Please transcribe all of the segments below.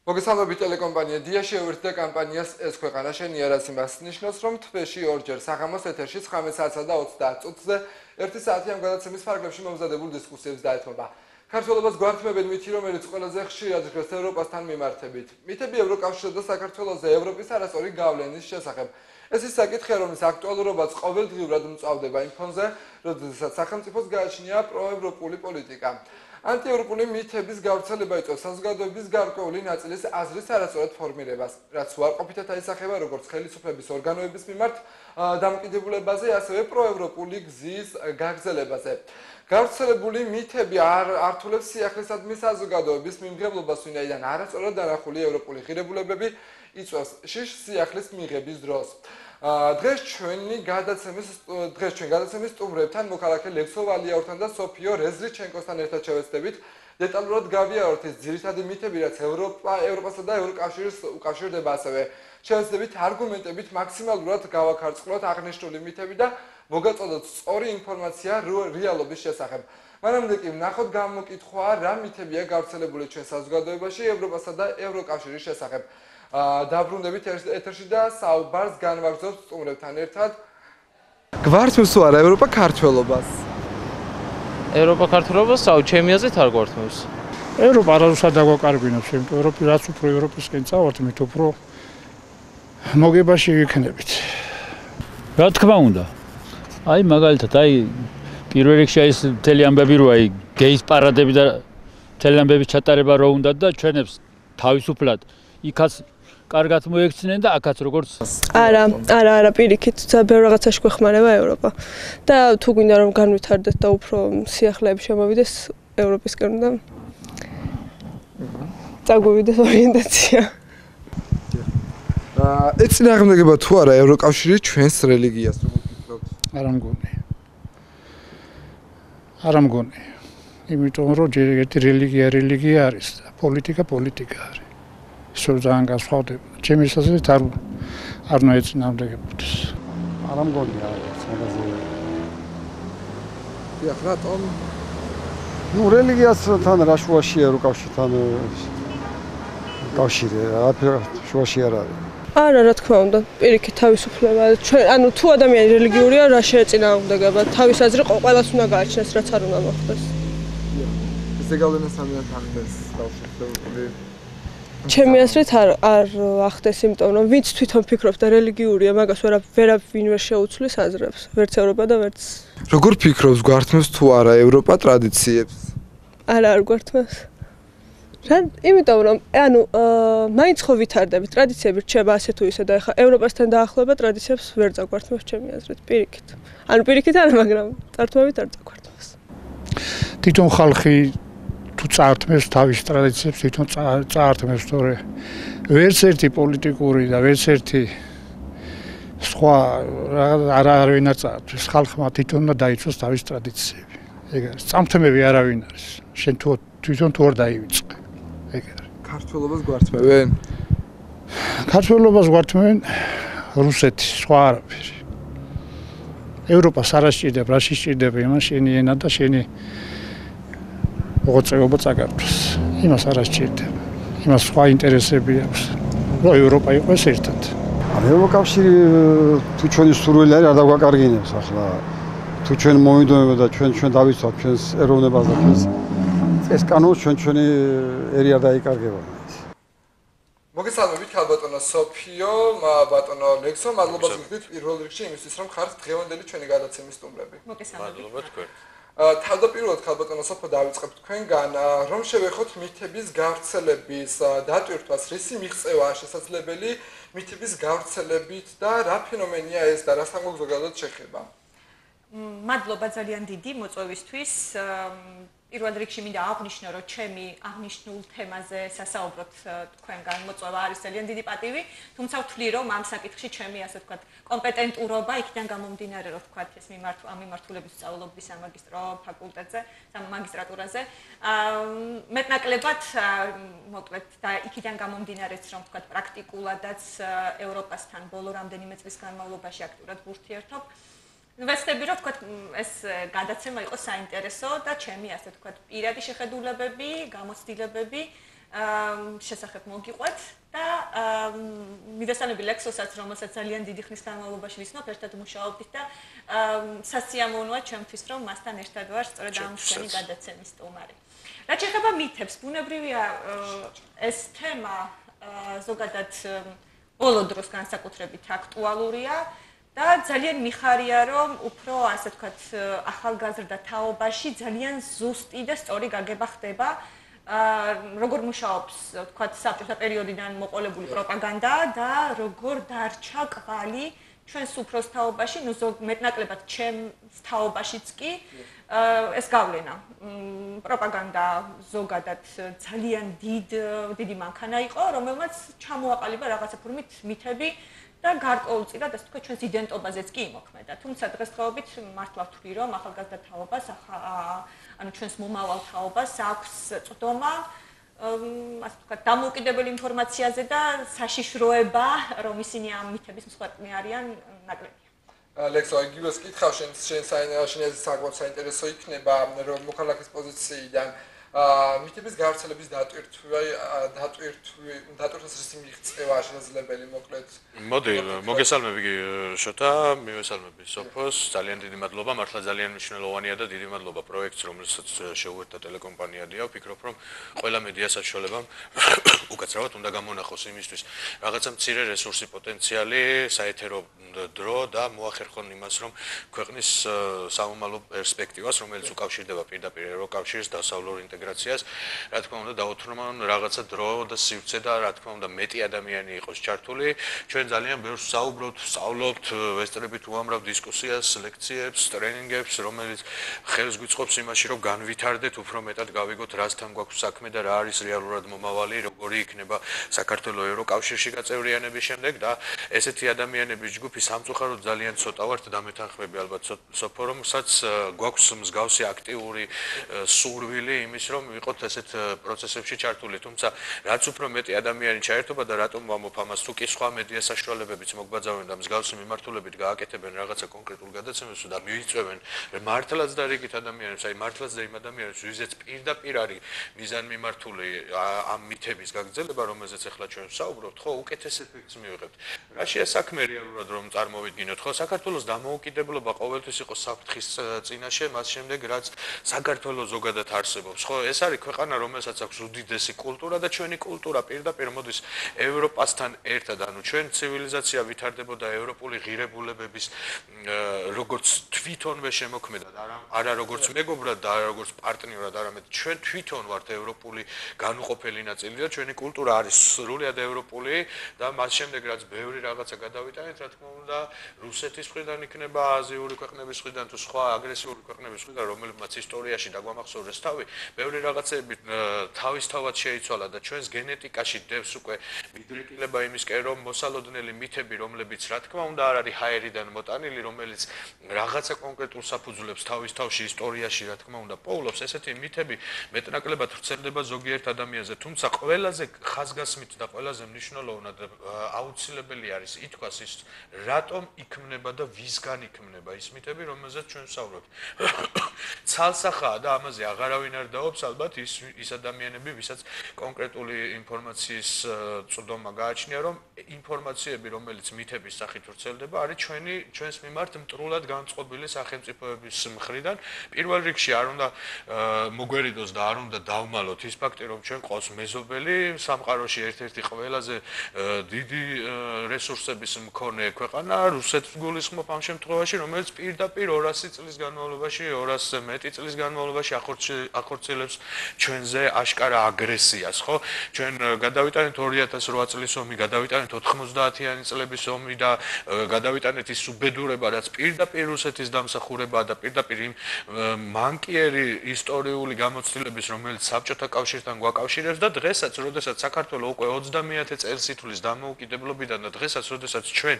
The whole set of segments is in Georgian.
მოგესალმებით ტელეკომპანია დია შეუერთდა კამპანიას ეს ქვეყანა შენია რაც იმას ნიშნავს რომ თვეში ორჯერ საღამოს ეთერში 19 საათსა და 30 წუთზე 1 საათი ამ გადაცემის ფარგლებში მომზადებულ დისკუსიებს დაეთმობა. ქართველობას გვართმევენ მითი რომელიც ყველაზე ხშირად ჟღერს ევროპასთან მიმართებით. მითები ევროკავშირსა და საქართველოზე ევროპის არასწორი გავლენის შესახებ. ეს ის საკითხია რომლის აქტუალურობაც ყოველდღიურად მწვავდება იმ ფონზე, როდესაც სახელმწიფოს გააჩნია პროევროპული პოლიტიკა. Ანტიევროპული მითების გავრცელება იწვევს საზოგადოების გარკვეული ნაწილის აზრის არასწორად ფორმირებას, რაც უარყოფითად აისახება როგორც ხელისუფლების ორგანოების მიმართ დამოკიდებულებაზე, ასევე პროევროპული გზის გაგრძელებაზე. გავრცელებული მითები ართულებს სიახლესადმი საზოგადოების მიმღებლობას, ვინაიდან არასწორად დანახული ევროპული ღირებულებები იწვევს შიშს სიახლის მიღების დროს. დღეს ჩვენ გადაცემის სტუმრებთან მოქალაქე ლექსო ვალიაურთან და სოფიო რეზრიჩენკოსთან ერთად შევეცდებით დეტალურად გავიაროთ ის ძირითადი მითები, რაც ევროპასა და ევროკავშირს უკავშირდება, ასევე შევეცდებით არგუმენტებით მაქსიმალურად გავაქარწყლოთ აღნიშნული მითები და მოგაწოდოთ სწორი ინფორმაცია რეალობის შესახებ. მანამდე კი ვნახოთ გამოკითხვა რა მითებია გავრცელებული ჩვენ საზოგადოებაში ევროპასა და ევროკავშირის შესახებ. დაბრუნდებით ეთერში და საუბარს განვაგრძობთ სტუმრებთან ერთად. გვართმევს თუ არა ევროპა ქართველობას? ევროპა ქართველობას ჩემი აზრით არ გვართმევს. ევროპა არასდროს არ დაგვაკარგვინებს, იმიტომ რომ რაც უფრო ევროპისკენ წავართ, მით უფრო მოგებაში ვიქნებით. რა თქმა უნდა. აი მაგალითად, პირველ რიგში ეს მთელი ამბები რო გეის პარადები და მთელი ამბების ჩატარება რო უნდა და ჩვენებს თავისუფლად იქაც კარგად მოექცნენ და აქაც როგორც არა პირიქით ბევრ რაღაცაში გვეხმარება ევროპა და თუ გვინდა რომ განვითარდეთ და უფრო სიახლეები შემოვიდეს ევროპისკენ და წაგვივიდეს ორიენტაცია. ეწინააღმდეგება თუ არა ევროკავშირი ჩვენს რელიგიას როგორ ფიქრობთ? არ მგონი. იმიტომ რომ ჯერ ერთი რელიგია არის და პოლიტიკა არის. ისო ძალიან განსხვავდება. ჩემი აზრით არ უნდა ეწინააღმდეგებოდეს. არ მგონი არის მაგაზე. დიახ, რატომ? რელიგიასთან რა შუაშია ევროკავშირთან კავშირი, შუაში არ არის. არა, რა თქმა უნდა, პირიქით თავისუფლება. ანუ თუ ადამიანი რელიგიურია, რა შეეწინააღმდეგება? თავის აზრი ყველას უნდა გააჩნდეს, რაც არ უნდა მოხდეს. ესე გავლენას ამიან ახდენს თავისუფლებული. ჩემი აზრით არ ახდენს, იმიტომ რომ ვინც თვითონ ფიქრობს და რელიგიურია, მაგას ვერავინ ვერ შეუცვლის აზრებს, ვერც ევროპა და ვერც. როგორ ფიქრობს, გვართმევს თუ არა ევროპა ტრადიციებს? არ გვართმევს. იმიტომ რომ მაინც ხო ვითარდებით, ტრადიციები რჩება ასე თუ ისე და ეხლა ევროპასთან დაახლოება ტრადიციებს ვერ წაგვართმევს ჩემი აზრით, პირიქით. პირიქით არა, მაგრამ წართმევით არ წაგვართმევს. თვითონ ხალხი თუ წაართმევს თავის ტრადიციებს, თვითონ წაართმევს, თორე ვერც ერთი პოლიტიკური და ვერც ერთი სხვა არავინ არ წაართმევს. ხალხმა თვითონ უნდა დაიცვას თავის ტრადიციები. ეგ არის. წამთმები არავინ არის. შენ თვითონ თუ არ დაივიწყე. ეგ არის. ქართველობას გვართმევენ? ქართველობას გვართმევენ რუსეთი, სხვა არაფერი. ევროპას არ ასჭირდება, რა შეჭირდება იმას შენი ენა და შენი მოღვაწეობა წაგართვას. იმას არ ასჭირდება. იმას სხვა ინტერესები აქვს. რომ ევროპა იყოს ერთად. ევროკავშირი თუ ჩვენი სურვილი არის არ დაგვაკარგინებს ახლა. თუ ჩვენ მომიდონება და ჩვენ დავიცვათ ჩვენს ეროვნებას და ჩვენს წესკანონს ჩვენი ერი არ დაიკარგება. მოგესალმებით ქალბატონო სოფიო, ბატონო ლექსო, მადლობა გიხდით პირველ რიგში იმისთვის რომ ხართ დღევანდელი ჩვენი გადაცემის სტუმრები. მადლობა თქვენ. თავდაპირველად ქალბატონო სოფო დავიწყებთ თქვენგან, რომ შევეხოთ მითების გავრცელების დატვირთვას, რისი მიღწევაა შესაძლებელი მითების გავრცელებით და რა ფენომენია ეს და რასთან ზოგადად შეხება? მადლობა ძალიან დიდი მოწვევისთვის. პირველ რიგში მინდა აღვნიშნო, რომ ჩემი აღნიშნულ თემაზე სასაუბროთ თქვენგან მოწვევა არის ძალიან დიდი პატივი, თუმცა ვთვლი, რომ ამ საკითხში ჩემი ასე ვთქვათ კომპეტენტურობა იქიდან გამომდინარე, რომ ვთქვათ ეს მიმართულების სწავლობის სამაგისტრო ფაკულტეტზე, მაგისტრატურაზე, მეტნაკლებად მოკლედ და იქიდან გამომდინარეც, რომ ვთქვათ პრაქტიკულადაც ევროპასთან ბოლო რამდენიმე წლის განმავლობაში აქტიურად ვურთიერთობ. ვეცდები რომ თქვათ ეს გადაცემა იყოს საინტერესო და ჩემი ასე თქვათ პირადი შეხედულებები, გამოცდილებები შესახებ მოგიყვეთ და მიდასალმები ლექსოსაც, რომელსაც ძალიან დიდი ხნის განმავლობაში ვიცნობ, ერთად მუშაობდით და სასიამოვნოა ჩემთვის, რომ მასთან ერთად ვარ სწორედ ამ ჩვენი გადაცემის სტუმარი. რაც შეეხება მითებს, ბუნებრივია ეს თემა ზოგადად ბოლო დროს განსაკუთრებით აქტუალურია და ძალიან მიხარია, რომ უფრო ასე ვთქვათ, ახალგაზრდა თაობაში ძალიან ზუსტი და სწორი გაგება ხდება როგორ მუშაობს, ვთქვათ, საბჭოთა პერიოდიდან მოყოლებული პროპაგანდა და როგორ დარჩა კვალი ჩვენს უფროს თაობაში, ნუ მეტნაკლებად ჩემს თაობაშიც კი ეს გავლენა. პროპაგანდა ზოგადად ძალიან დიდი მანქანა იყო, რომელმაც ჩამოაყალიბა რაღაცა ფორმით მითები და გარკვეულწილად ასე ვთქვათ, ჩვენს იდენტობაზეც კი იმოქმედა. თუმცა დღესდღეობით მართლა ვთვლი, რომ ახალგაზრდა თაობას ანუ ჩვენს მომავალ თაობას აქვს წვდომა ასე ვთქვათ, დამოუკიდებელი ინფორმაციაზე და საშიშროება, რომ ისინი ამ მითების მსხვერპლი არიან, ნაკლებია. ლექსო, იგივეს კითხავ, შენ საკმაოდ საინტერესო იქნება, რომ მოქალაქის პოზიციიდან მითების გავრცელების დატვირთვას მიღწევა შესაძლებელი მოკლედ. მოდი, მოგესალმები შოთა, მივესალმები სოფოს, ძალიან დიდი მადლობა, მართლა ძალიან მნიშვნელოვანია და დიდი მადლობა პროექტს, რომელსაც შეუერთდა ტელეკომპანია დია. ვფიქრობ, რომ ყველა მედია საშუალებამ უკაცრავად უნდა გამონახოს იმისთვის, რაღაცა მცირე რესურსი პოტენციალი, საეთერო დრო და მოახერხონ იმას, რომ ქვეყნის სამომავლო პერსპექტივას, რომელიც უკავშირდება პირდაპირ ევროკავშირის დასავლურ ინტეგრაციას, რა თქმა უნდა, დაუთრმონ რაღაცა დრო და სივრცე და რა თქმა უნდა, მეტი ადამიანი იყოს ჩართული. ჩვენ ძალიან ბევრს საუბრობთ, სწავლობთ, ვესწრებით უამრავ დისკუსიას, ლექციებს, ტრენინგებს, რომელიც ხელს გვიწყობს იმაში, რომ განვითარდეთ, უფრო მეტად გავიგოთ, რასთან გვაქვს საქმე და რა არის რეალურად მომავალი, როგორი იქნება საქართველოს ევროკავშირში გაწევრიანების შემდეგ და ესეთი ადამიანების ჯგუფი სამწუხაროდ ძალიან ცოტა ვართ და მეთანხმები ალბათ სოფო, რომელსაც გვაქვს მსგავსი აქტიური სურვილი იმის, რომ ვიყოთ ესეთ პროცესებში ჩართული. თუმცა რაც უფრო მეტი ადამიანი ჩაერთობა და რატომ ვამბობ ამას, თუ კი სხვა მედია საშუალებებიც მოგვაძავენ და მსგავსი მიმართულებით გააკეთებენ რაღაცა კონკრეტულ გადაცემებს და მივიწვევენ მართლაც და რიგით ადამიანებს, აი მართლაც და იმ ადამიანებს, ვიზეც პირდაპირ არის მიზანმიმართული ამ მითების გაგრძელება, რომელზეც ახლა ჩვენ ვსაუბრობთ, ხო, უკეთეს ეფექტს მივიღებთ. რაშია საქმე რეალურად რომ წარმოვიდგინოთ, ხო, საქართველოს დამოუკიდებლობა ყოველთვის იყო საფრთხის წინაშე, მას შემდეგ რაც საქართველოს ზოგადად არსებობს, ხო, ეს არის ქვეყანა, რომელსაც აქვს უდიდესი კულტურა და ჩვენი კულტურა პირდაპირ მოდის ევროპასთან ერთად, ანუ ჩვენ ცივილიზაცია ვითარდებოდა ევროპული ღირებულებების როგორც თვითონვე შემოქმედად, არა როგორც მეგობრად და არა როგორც პარტნიორად, არამედ ჩვენ თვითონ ვართ ევროპული განუყოფელი ნაწილი და ჩვენი კულტურა არის სრულიად ევროპული და მას შემდეგ რაც ბევრი რაღაცა გადავიტანეთ, რა თქმა უნდა, რუსეთის მხრიდან იქნება, აზიური ქვეყნების მხრიდან თუ სხვა აგრესიული ქვეყნების მხრიდან, რომლებმაც ისტორიაში დაგვამახსოვრეს თავი, ბევრი რაღაცები თავისთავად შეიცვალა და ჩვენს გენეტიკაში დევს უკვე მიდრეკილება იმისკენ, რომ მოსალოდნელი მითები, რომლებიც რა თქმა უნდა არ არის ჰაერიდან მოტანილი, რომელიც რაღაცა კონკრეტულ საფუძვლებს თავის თავში ისტორიაში რა თქმა უნდა პოულობს, ესეთი მითები მეტნაკლებად ვრცელდება ზოგიერთ ადამიანზე, თუმცა ყველაზე ხაზგასმით და ყველაზე მნიშვნელოვნად აუცილებელი არის ითქვას ის, რატომ იქმნება და ვისგან იქმნება ის მითები, რომელზეც ჩვენ ვსაუბრობთ. ცალსახაა და ამაზე აღარავინ არ დაობს ალბათ ის ადამიანები, ვისაც კონკრეტული ინფორმაციის წვდომა გააჩნია, რომ ინფორმაციები, რომელიც მითების სახით ვრცელდება, არის ჩვენს მიმართ მტრულად განწყობილი სახელმწიფოების მხრიდან. პირველ რიგში არ უნდა მოგვერიდოს და არ უნდა დავმალოთ ის ფაქტი, რომ ჩვენ ყავს მეზობელი სამყაროში ერთ-ერთი ყველაზე დიდი რესურსების მქონე ქვეყანა, რუსეთს გულისხმობ ამ შემთხვევაში, რომელიც პირდაპირ 200 წლის განმავლობაში, 200-ზე მეტი წლის განმავლობაში ახორციელებს ჩვენზე აშკარა აგრესიას, ხო? ჩვენ გადავიტანეთ 2008 წლის ომი, გადავიტანეთ 90-იანი წლების ომი და გადავიტანეთ ის უბედურება, რაც პირდაპირ რუსეთის დამსახურებაა და პირდაპირ იმ მანკიერი ისტორიული გამოცდილების, რომელიც საბჭოთა კავშირთან გვაკავშირებს და დღესაც, როდესაც რომელსაც საქართველოს უკვე 30-ე წელს ითვლის დამოუკიდებლობიდან და დღესაც, როდესაც ჩვენ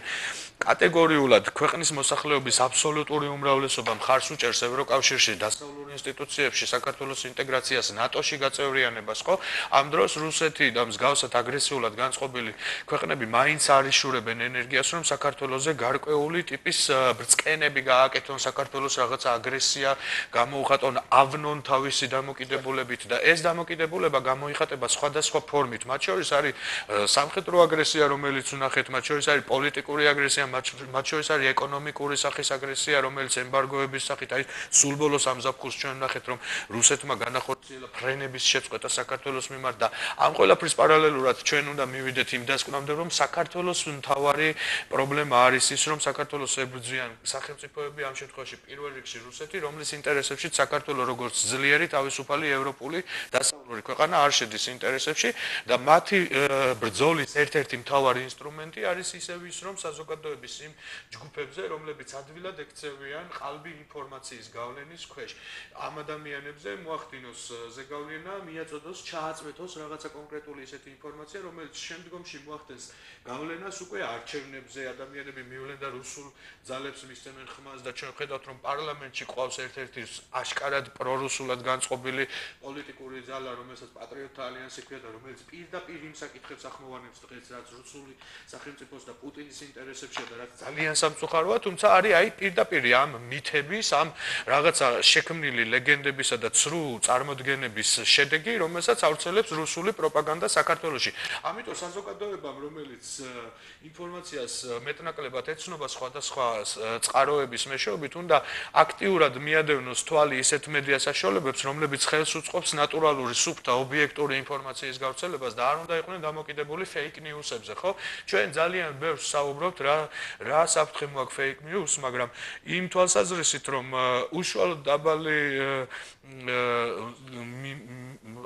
კატეგორიულად ქვეყნის მოსახლეობის აბსოლუტური უმრავლესობა მხარს უჭერს ევროკავშირში, დასავლურ ინსტიტუციებში, საქართველოს ინტეგრაციას, ნატოში გაწევრიანებას, ხო? ამ დროს რუსეთი და მსგავსად აგრესიულად განწყობილი ქვეყნები მაინც არ იშურებენ ენერგიას, რომ საქართველოზე გარკვეული ტიპის ბრწყენები გააკეთონ, საქართველოს რაღაცა აგრესია გამოუხატონ, ავნონ თავისი დამოკიდებულებით და ეს დამოკიდებულება გამოიხატება სხვადასხვა ფორმით. მათ შორის არის სამხედრო აგრესია, რომელიც ვნახეთ, მათ შორის არის პოლიტიკური აგრესია, მათ შორის არის ეკონომიკური სახის აგრესია, რომელიც ემბარგოების სახით არის. სულ ბოლოს ამ ზაფხულს ჩვენ ვნახეთ, რომ რუსეთმა განახორციელა ფრენების შეწყვეტა საქართველოს მიმართ და ამ ყველაფრის პარალელურად ჩვენ უნდა მივიდეთ იმ დასკვნამდე, რომ საქართველოს მთავარი პრობლემა არის ის, რომ საქართველოს ებრძვიან სახელმწიფოები, ამ შემთხვევაში პირველ რიგში რუსეთი, რომლის ინტერესებში საქართველოს როგორც ძლიერი თავისუფალი ევროპული დასავლური ქვეყანა არ შედის ინტერესებში და მათი ბრძოლის ერთ-ერთი მთავარი ინსტრუმენტი არის ისევ ის, რომ საზოგადოების იმ ჯგუფებზე, რომლებიც ადვილად ექცევიან ყალბი ინფორმაციის გავლენის ქვეშ. ამ ადამიანებზე მოახდინოს ზეგავლენა, მიაწოდოს, ჩააწვეთოს რაღაცა კონკრეტული ისეთი ინფორმაცია, რომელიც შემდგომში მოახდენს გავლენას უკვე არჩევნებზე, ადამიანები მივლენ და რუსულ ძალებს მისცემენ ხმას და ჩვენ ხედავთ, რომ პარლამენტში ყავს ერთ-ერთი აშკარად პრორუსულად განწყობილი პოლიტიკური ძალა, რომელსაც პატრიოტთა ალიანსი ქვია და რომელიც პირდაპირ იმ საკითხებს ახმოვანებს დღეს, რაც რუსული სახელმწიფოს და პუტინის ინტერესებშია და რაც ძალიან სამწუხაროა, თუმცა არის აი პირდაპირ ამ მითების, ამ რაღაცა შექმნილი ლეგენდებისა და ცრუ წარმოდგენების შედეგი, რომელსაც ავრცელებს რუსული პროპაგანდა საქართველოში. ამიტომ საზოგადოებამ, რომელიც ინფორმაციას მეტნაკლებად ეცნობა სხვადასხვა წყაროების მეშვეობით, უნდა აქტიურად მიადევნოს თვალი ისეთ მედია საშუალებებს, რომლებიც ხელს უწყობს ნატურალური, სუფთა, ობიექტური ინფორმაციის გავრცელებას და არ უნდა იყვნენ დამოკიდებული fake news-ებზე, ხო? ჩვენ ძალიან ბევრს საუბრობთ რა საფრთხე მოაქვს fake news, მაგრამ იმ თვალსაზრისით, რომ უშუალოდ დაბალი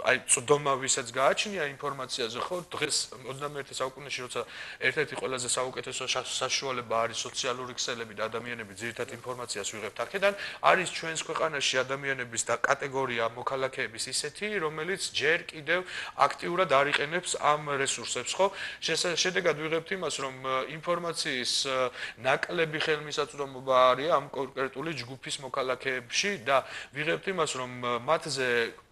აი წვდომა ვისაც გააჩნია ინფორმაციაზე, ხო? დღეს 21 საუკუნეში, როცა ერთ-ერთი ყველაზე საუკეთესო საშუალება არის სოციალური ქსელები და ადამიანები ძირითად ინფორმაციას ვიღებთ აქედან, არის ჩვენს ქვეყანაში ადამიანების და კატეგორია მოქალაქეების ისეთი, რომელიც ჯერ კიდევ აქტიურად არ იყენებს ამ რესურსებს, ხო? შედეგად ვიღებთ იმას, რომ ინფორმაციის ნაკლები ხელმისაწვდომობა არის ამ კონკრეტული ჯგუფის მოქალაქეებში და ვიღებთ იმას, რომ მათზე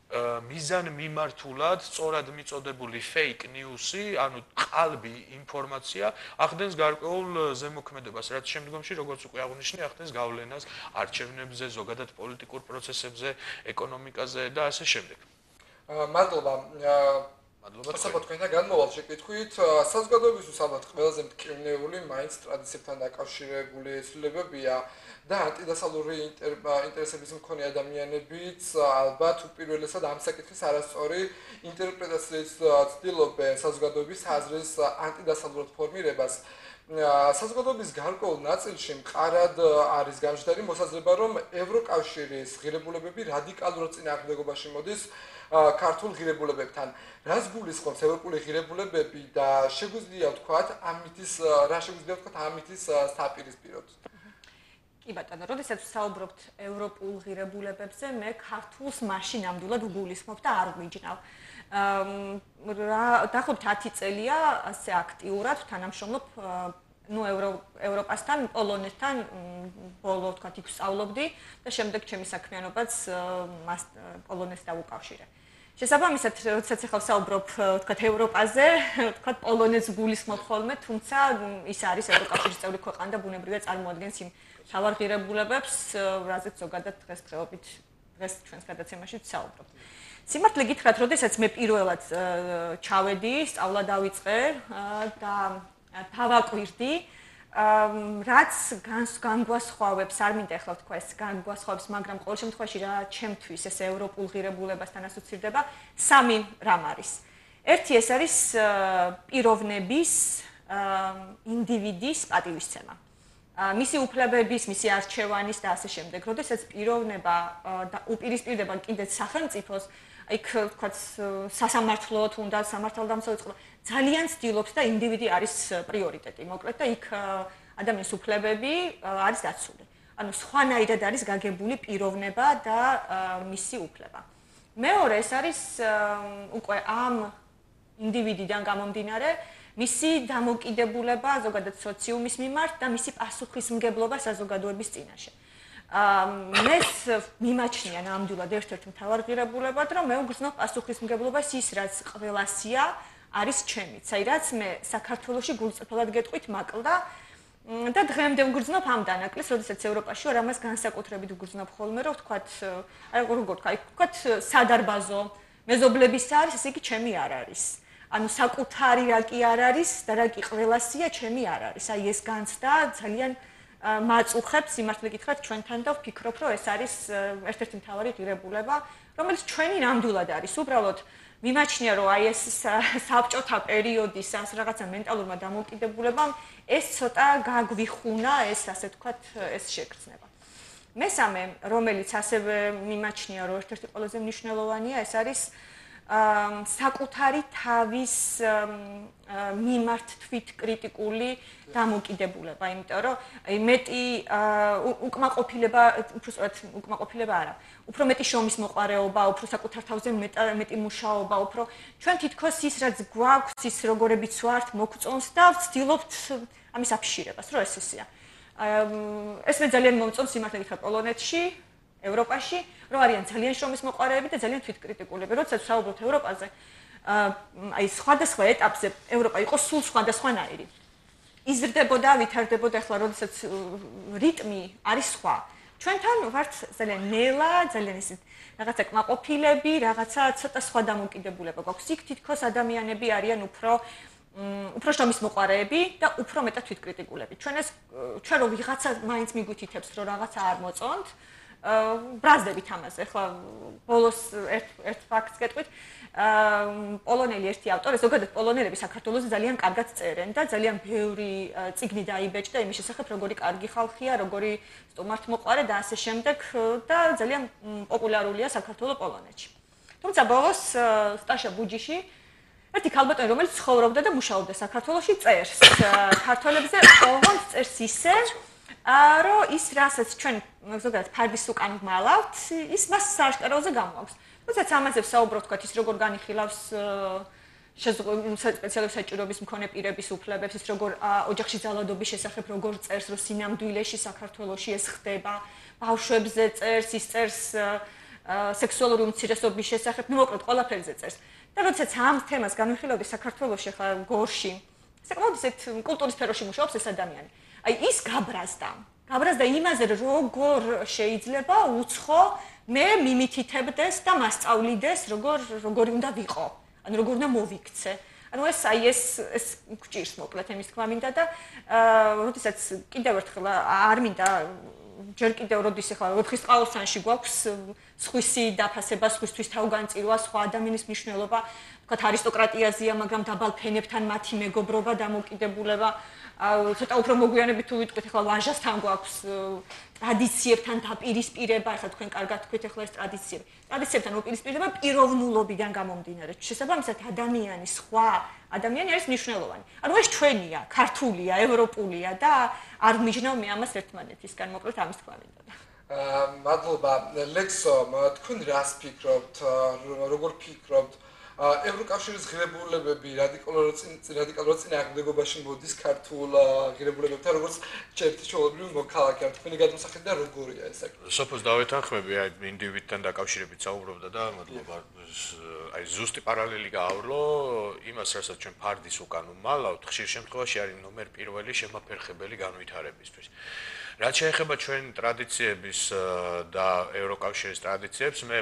მიზან მიმართულად სწორად მიწოდებული fake news-ი, ანუ ყალბი ინფორმაცია ახდენს გარკვეულ ზემოქმედებას, რაც შემდგომში, როგორც უკვე აღნიშნე, ახდენს გავლენას არჩევნებზე, ზოგადად პოლიტიკურ პროცესებზე, ეკონომიკაზე და ასე შემდეგ. მადლობა. საბოლოოდ თქვენთან განმოვალ შეკითხვით, საზოგადოებისთვის ალბათ ყველაზე მტკივნეული, მაინც ტრადიციებთან დაკავშირებული ცვლილებებია და ანტიდასავლური ინტერესების მქონე ადამიანებიც ალბათ უპირველესად ამ საკითხის არასწორი ინტერპრეტაციის ცდილობენ საზოგადოების აზრის ანტიდასავლურად ფორმირებას. საზოგადოების გარკვეულ ნაწილში მყარად არის გამჟდარი მოსაზრება, რომ ევროკავშირის ღირებულებები რადიკალურად წინააღმდეგობაში მოდის ქართულ ღირებულებებთან. რას გულისხმობს ევროპული ღირებულებები და შეგვიძლია ვთქვათ ამითის საპირისპიროდ? კი ბატონო, როდესაც ვსაუბრობთ ევროპულ ღირებულებებზე, მე ქართულს მაშინ ნამდვილად ვგულისხმობ და არ ვიჯნავ. დაახლოებით 10 წელია ასე აქტიურად თანამშრომლობ ევროპასთან, პოლონეთთან, ბოლო თქვათ იქ ვსწავლობდი და შემდეგ ჩემი საქმიანობაც პოლონეთს დავუკავშირე. შესაბამისად, როდესაც ახლა ვსაუბრობ თქვათ ევროპაზე, თქვათ პოლონეთს გულისხმობ ხოლმე, თუმცა ის არის ევროკავშირის წევრი ქვეყანა და ბუნებრივია წარმოადგენს იმ მთავარ ღირებულებებს, რაზეც ზოგადად დღესდღეობით დღეს ჩვენს გადაცემაში ვსაუბრობთ. სიმართლე გითხრათ, როდესაც მე პირველად ჩავედი, სწავლა დავიწყე და დავაკვირდი, რაც განგვასხვავებს, არ მინდა ახლა ვთქვა ეს განგვასხვავებს, მაგრამ ყოველ შემთხვევაში რა ჩემთვის ეს ევროპულ ღირებულებასთან ასოცირდება, სამი რამ არის. ერთი ეს არის პიროვნების, ინდივიდის პატივისცემა. მისი უფლებების, მისი არჩევანის და ასე შემდეგ. როდესაც პიროვნება და უპირისპირდება კიდეც სახელმწიფოს, იქ თქვათ სასამართლო თუნდაც სამართალდამცავი წყობა ძალიან ცდილობს და ინდივიდი არის პრიორიტეტი. მოკლედ და იქ ადამიანის უფლებები არის დაცული. ანუ სხვანაირად არის გაგებული პიროვნება და მისი უფლება. მეორე ეს არის უკვე ამ ინდივიდიდან გამომდინარე, მისი დამოკიდებულება ზოგადად სოციუმის მიმართ და მისი პასუხისმგებლობა საზოგადოების წინაშე. მეს მიმაჩნია ნამდვილად ერთ-ერთ მთავარ ღირებულებად, რომ მე უგრძნობ პასუხისმგებლობას ის, რაც ყველასია, არის ჩემიც. აი, რაც მე საქართველოში გულწრფელად გეტყვით მაკლდა და დღემდე უგრძნობ ამ დანაკლისს, როდესაც ევროპაში ვარ, ამას განსაკუთრებით უგრძნობ ხოლმე, რომ ვთქვათ, აი როგორ ვთქვათ, სადარბაზო მეზობლების არის, ესე იგი ჩემი არ არის. ანუ საკუთარი რა კი არ არის და რა კი ყველასია, ჩემი არ არის. აი ეს განცდა ძალიან მაწუხებს სიმართლე გითხრათ ჩვენთან და ვფიქრობ, რომ ეს არის ერთ-ერთი მთავარი ღირებულება, რომელიც ჩვენი ნამდვილად არის. უბრალოდ მიმაჩნია, რომ აი ეს საბჭოთა პერიოდის ამ რაღაცა მენტალურმა დამოკიდებულებამ ეს ცოტა გაგვიხუნა, ეს ასე ვთქვათ, ეს შეგრძნება. მესამე, რომელიც ასევე მიმაჩნია, რომ ერთ-ერთი ყველაზე მნიშვნელოვანია, ეს არის საკუთარი თავის მიმართ თვითკრიტიკული დამოკიდებულება, იმიტომ რომ მეტი უკმაყოფილება, უკმაყოფილება არა, უფრო მეტი შრომის მოყარეობა, უფრო საკუთარ თავზე მეტი მუშაობა, უფრო ჩვენ თითქოს ის რაც გვაქვს, ის როგორებიც ვართ, მოგწონს და ვცდილობთ ამის აფიშირებას, რომ ეს ისეა. ეს მე ძალიან მომწონს სიმართლე გითხრათ პოლონეთში, ევროპაში, რომ არიან ძალიან შრომის მოყარეები და ძალიან თვითკრიტიკულები. როდესაც ვსაუბრობთ ევროპაზე, აი სხვადასხვა ეტაპზე ევროპა იყო სულ სხვადასხვანაირი. იზრდებოდა, ვითარდებოდა, ახლა როდესაც რიტმი არის სხვა. ჩვენთან ვართ ძალიან ნელა, ძალიან ისეთ რაღაცა კმაყოფილები, რაღაცა ცოტა სხვა დამოკიდებულება გვაქვს. იქ თითქოს ადამიანები არიან უფრო შრომის მოყარეები და უფრო მეტად თვითკრიტიკულები. ჩვენ რო ვიღაცა მაინც მიგვითითებს, რომ რაღაცა არ მოწონთ, ბრაზდებით ამაზე. ახლა ბოლოს ერთ ფაქტს გეტყვით. პოლონელი ერთი ავტორი, ზოგადად პოლონელები საქართველოს ძალიან კარგად წერენ და ძალიან ბევრი წიგნი დაიბეჭდა იმის შესახებ, როგორი კარგი ხალხია, როგორი სტუმართმოყვარე და ასე შემდეგ და ძალიან პოპულარულია საქართველოს პოლონეთში. თუმცა ბოლოს სტაშა ბუჯიში ერთი ქალბატონი, რომელიც ცხოვრობდა და მუშაობდა საქართველოში, წერს ქართველებზე ოღონდ წერს ისე, რომ ის რასაც ჩვენ ზოგადად ფარდის უკან ვმალავთ, ის მას სააშკაროზე გამოაქვს. თუმცა ამაზე ვსაუბრობ, თქვათ, ის როგორ განიხილავს სპეციალური საჭიროების მქონე პირების უფლებებს, ის როგორ ოჯახში ძალადობის შესახებ როგორ წერს, რომ სინამდვილეში საქართველოში ეს ხდება, ბავშვებზე წერს, ის წერს სექსუალური უმცირესობის შესახებ, ну, მოკლედ, ყველაფერზე წერს. და როდესაც ამ თემას განვიხილავდი საქართველოში, ხა გორში, საკმაოდ ისეთ კულტურის სფეროში მუშაობს ეს ადამიანი. აი ის გაბრაზდა იმაზე, როგორ შეიძლება უცხო მე მიმითითებდეს და მასწავლიდეს, როგორი უნდა ვიყო, ანუ როგორ უნდა მოვიქცე. ანუ ეს გვჭირს მოკლედ იმის თქმა მინდა და როდესაც კიდევ ერთხელ არ მინდა ჯერ კიდევ როდის ახლა ვეფხისტყაოსანში გვაქვს სხვისი დაფასება, სხვისთვის თავგანწირვა, სხვა ადამიანის მნიშვნელობა, თქვათ არისტოკრატიაზეა, მაგრამ დაბალ ფენებთან მათი მეგობრობა, დამოკიდებულება, ცოტა უფრო მოგვიანებით თუ ვიტყვით, ახლა ვაჟასთან გვაქვს ტრადიციებთან დაპირისპირება, ახლა თქვენ კარგად თქვით ახლა ეს ტრადიციები. ტრადიციებთან უპირისპირება პიროვნულობიდან გამომდინარე. შესაბამისად ადამიანი, სხვა ადამიანი არის მნიშვნელოვანი. ანუ ეს ჩვენია, ქართულია, ევროპულია და არ მიჯნავ მე ამას ერთმანეთისგან, მოკლედ ამის თქვა მინდა. მადლობა ლექსო, თქვენ რას ფიქრობთ, როგორ ფიქრობთ? ევროკავშირის ღირებულებები რადიკალურად წინააღმდეგობაში მოდის ქართულ ღირებულებებთან, როგორც ჩერტი ჩვეულებრივი მოქალაქე. თქვენი გადმოსახედი და როგორია ეს საკითხი? სოფოს დავეთანხმები, აი ინდივიდთან დაკავშირებით საუბრობდა და მადლობა. აი ზუსტი პარალელი გაავლო იმას, რასაც ჩვენ ფარდის უკან ვმალავთ, ხშირ შემთხვევაში არის ნომერ პირველი შემაფერხებელი განვითარებისთვის. რაც შეეხება ჩვენ ტრადიციების და ევროკავშირის ტრადიციებს, მე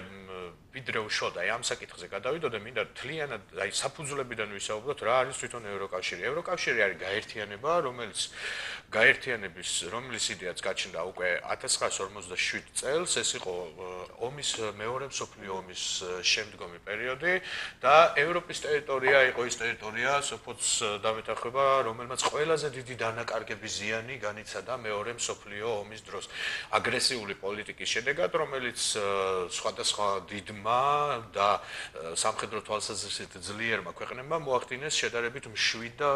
ვიდრე უშოთ აი ამ საკითხზე გადავიდო და მინდა თლიანად აი საფუძვლებიდან ვისაუბროთ რა არის თვითონ ევროკავშირი. ევროკავშირი არის გაერთიანება, რომლის იდეაც გაჩნდა უკვე 1947 წელს, ეს იყო ომის მეორე მსოფლიო ომის შემდგომი პერიოდი და ევროპის ტერიტორია იყო ის ტერიტორია, სოფოც დამეთანხმება, რომელმაც ყველაზე დიდი დანაკარგების ზიანი განიცადა მეორე მსოფლიო ომის დროს. აგრესიული პოლიტიკის შედეგად, რომელიც სხვადასხვა დიდ მშვიდმა და სამხედრო თვალსაზრისით ძლიერმა ქვეყნებმა მოახდინეს შედარებით მშვიდ და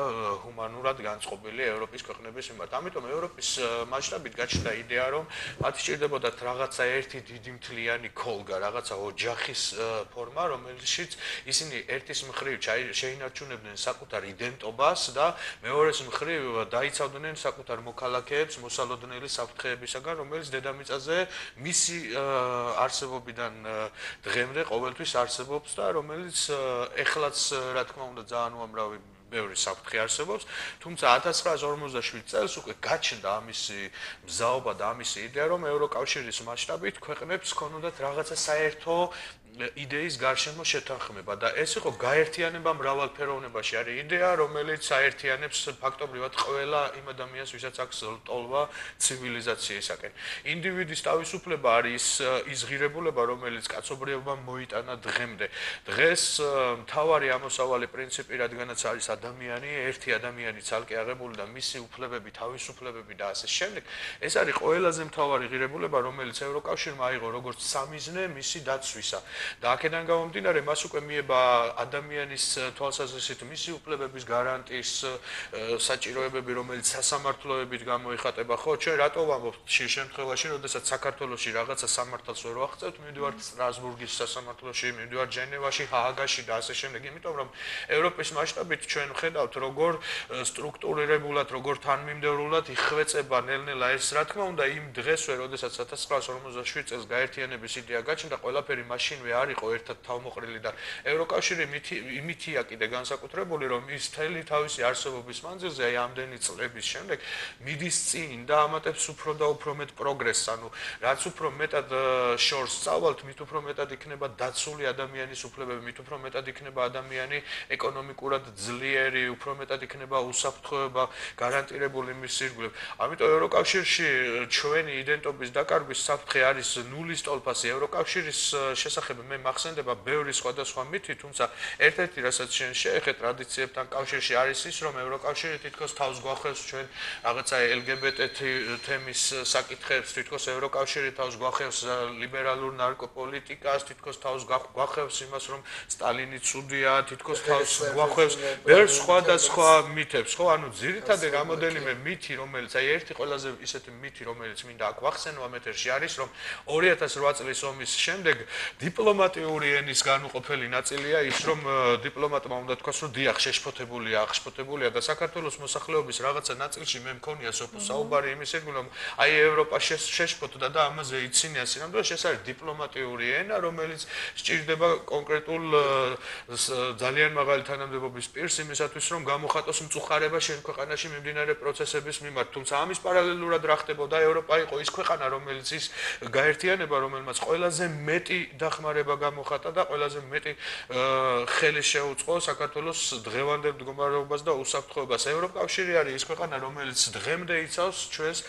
ჰუმანურად განწყობილი ევროპის ქვეყნების მიმართ. ამიტომ ევროპის მასშტაბით გაჩნდა იდეა, რომ მათ სჭირდებოდათ რაღაცა ერთი დიდი მთლიანი ქოლგა, რაღაცა ოჯახის ფორმა, რომელშიც ისინი ერთის მხრივ შეინარჩუნებდნენ საკუთარ იდენტობას და მეორეს მხრივ დაიცავდნენ საკუთარ მოქალაქეებს მოსალოდნელი საფრთხეებისაგან, რომელიც დედამიწაზე მისი არსებობიდან დღემდე ყოველთვის არსებობს და რომელიც ეხლაც რა თქმა უნდა ძალიან უამრავი ბევრი საფრთხე არსებობს, თუმცა 1947 წელს უკვე გაჩნდა ამისი მზაობა და ამისი იდეა, რომ ევროკავშირის მასშტაბით ქვეყნებს ჰქონდათ რაღაცა საერთო იდეის გარშემო შეთანხმება და ეს იყო გაერთიანება მრავალფეროვნებაში. არის იდეა, რომელიც აერთიანებს ფაქტობრივად ყველა იმ ადამიანს, ვისაც აქვს ტოლვა ცივილიზაციისაკენ. ინდივიდის თავისუფლება არის ის ღირებულება, რომელიც კაცობრიობამ მოიტანა დღემდე. დღეს მთავარი ამოსავალი პრინციპი, რადგანაც არის ადამიანი, ერთი ადამიანი ცალკე აღებული და მისი უფლებები, თავისუფლებები და ასე შემდეგ, ეს არის ყველაზე მთავარი ღირებულება, რომელიც ევროკავშირმა აიღო როგორც სამიზნე მისი დაცვისა. და აქედან გამომდინარე, მას უკვე მიება ადამიანის თვალსაზრისით მისი უფლებების გარანტიის საჭიროებები, რომელიც სასამართლოებით გამოიხატება. ხო, ჩვენ რატო ვამბობთ შენ შემთხვევაში, როდესაც საქართველოში რაღაცა სამართალს ვერ ვახცევთ, მივდივართ სტრასბურგის სასამართლოში, მივდივართ ჟენევაში, ჰააგაში და ასე შემდეგ, იმიტომ რომ ევროპის მასშტაბით ჩვენ ვხედავთ, როგორ სტრუქტურირებულად, როგორ თანმიმდევრულად იხვეწება ნელ-ნელა ეს, რა თქმა უნდა, იმ დღესვე, როდესაც 1947 წელს გაერთიანების იდეა გაჩნდა, ყველაფერი მაშინვე არ იყო ერთად თავმოყრილი და ევროკავშირი იმითია კიდე განსაკუთრებული, რომ ის მთელი თავისი არსებობის მანძილზე, აი ამდენი წლების შემდეგ მიდის წინ და ამატებს უფრო და უფრო მეტ პროგრესს, ანუ რაც უფრო მეტად შორს სწავლთ, მით უფრო მეტად იქნება დაცული ადამიანის უფლებები, მით უფრო მეტად იქნება ადამიანი ეკონომიკურად ძლიერი, უფრო მეტად იქნება უსაფრთხოება გარანტირებული მის ირგვლივ. ამიტომ ევროკავშირში ჩვენი იდენტობის დაკარგვის საფრთხე არის ნულის ტოლფასი. ევროკავშირის შესახებ მე მახსენდება ბევრი სხვადასხვა მითი, თუმცა ერთ-ერთი რასაც შენ შეეხეთ ტრადიციებთან კავშირში არის ის, რომ ევროკავშირი თითქოს თავს გვახევს ჩვენ რაღაცა LGBT თემის საკითხებს, თითქოს ევროკავშირი თავს გვახევს ლიბერალურ ნარკოპოლიტიკას, თითქოს თავს გვახევს იმას, რომ სტალინი ცუდია, თითქოს თავს გვახევს ბევრ სხვადასხვა მითებს, ხო? ანუ ძირითადად რამოდენიმე მითი, რომელიც აი ერთი ყველაზე ისეთი მითი, რომელიც მინდა აქ ვახსენო ამ ეთერში არის, რომ 2008 წლის ომის შემდეგ დიპლომატიური ენის განუყოფელი ნაწილია ის, რომ დიპლომატმა უნდა თქვას, რომ დიახ, აღშფოთებულია და საქართველოს მოსახლეობის რაღაცა ნაწილში მე მქონია საუბარი იმის ირგვლივ, რომ აი ევროპა შეშფოთდა და ამაზე იცინია სინამდვილეში, ეს არის დიპლომატიური ენა, რომელიც სჭირდება კონკრეტულ ძალიან მაღალი თანამდებობის პირს იმისათვის, რომ გამოხატოს მწუხარება შენ ქვეყანაში მიმდინარე პროცესების მიმართ. თუმცა ამის პარალელურად რა ხდებოდა, ევროპა იყო ის ქვეყანა, რომელიც ის გაერთიანება, რომელმაც ყველაზე მეტი დახმარება გამოხატა და ყველაზე მეტი ხელი შეუწყო საქართველოს დღევანდელ მდგომარეობას და უსაფრთხოებას. ევროკავშირი არის ის ქვეყანა, რომელიც დღემდე იცავს ჩვენს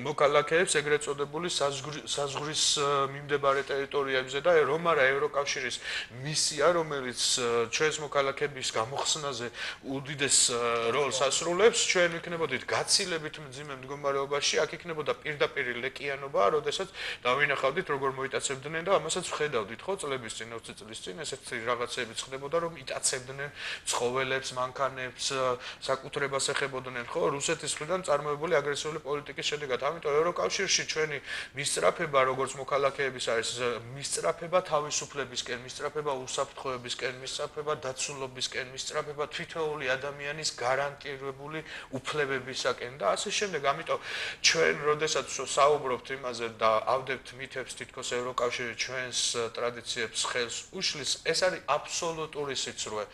მოქალაქეებს ეგრეთ წოდებული საზღვრის მიმდებარე ტერიტორიებზე და რომ არა ევროკავშირის მისია, რომელიც ჩვენს მოქალაქეების გამოხსნაზე უდიდეს როლს ასრულებს, ჩვენ ვიქნებოდით გაცილებით მძიმე მდგომარეობაში, აქ იქნებოდა პირდაპირი ლეკიანობა, როდესაც დავინახავდით როგორ მოიტაცებდნენ და ამასაც ვხედავდით, ხო, წლების წინ, 20 წლის წინ ესეთი რაღაცები ხდებოდა, რომ იტაცებდნენ ცხოველებს, მანქანებს, საკუთრებას ეხებოდნენ, ხო, რუსეთის მხრიდან წარმოებული აგრესიული პოლიტიკის შედეგად. ამიტომ ევროკავშირში ჩვენი მისწრაფება, როგორც მოქალაქეების არის მისწრაფება თავისუფლებისკენ, მისწრაფება უსაფრთხოებისკენ, მისწრაფება დაცულობისკენ, მისწრაფება თითოეული ადამიანის გარანტირებული უფლებებისაკენ და ასე შემდეგ. ამიტომ ჩვენ, როდესაც საუბრობთ იმაზე და ავდებთ მითებს, თითქოს ევროკავშირი ჩვენს ტრადიციებს ხელს უშლის, ეს არის აბსოლუტური სიცრუე.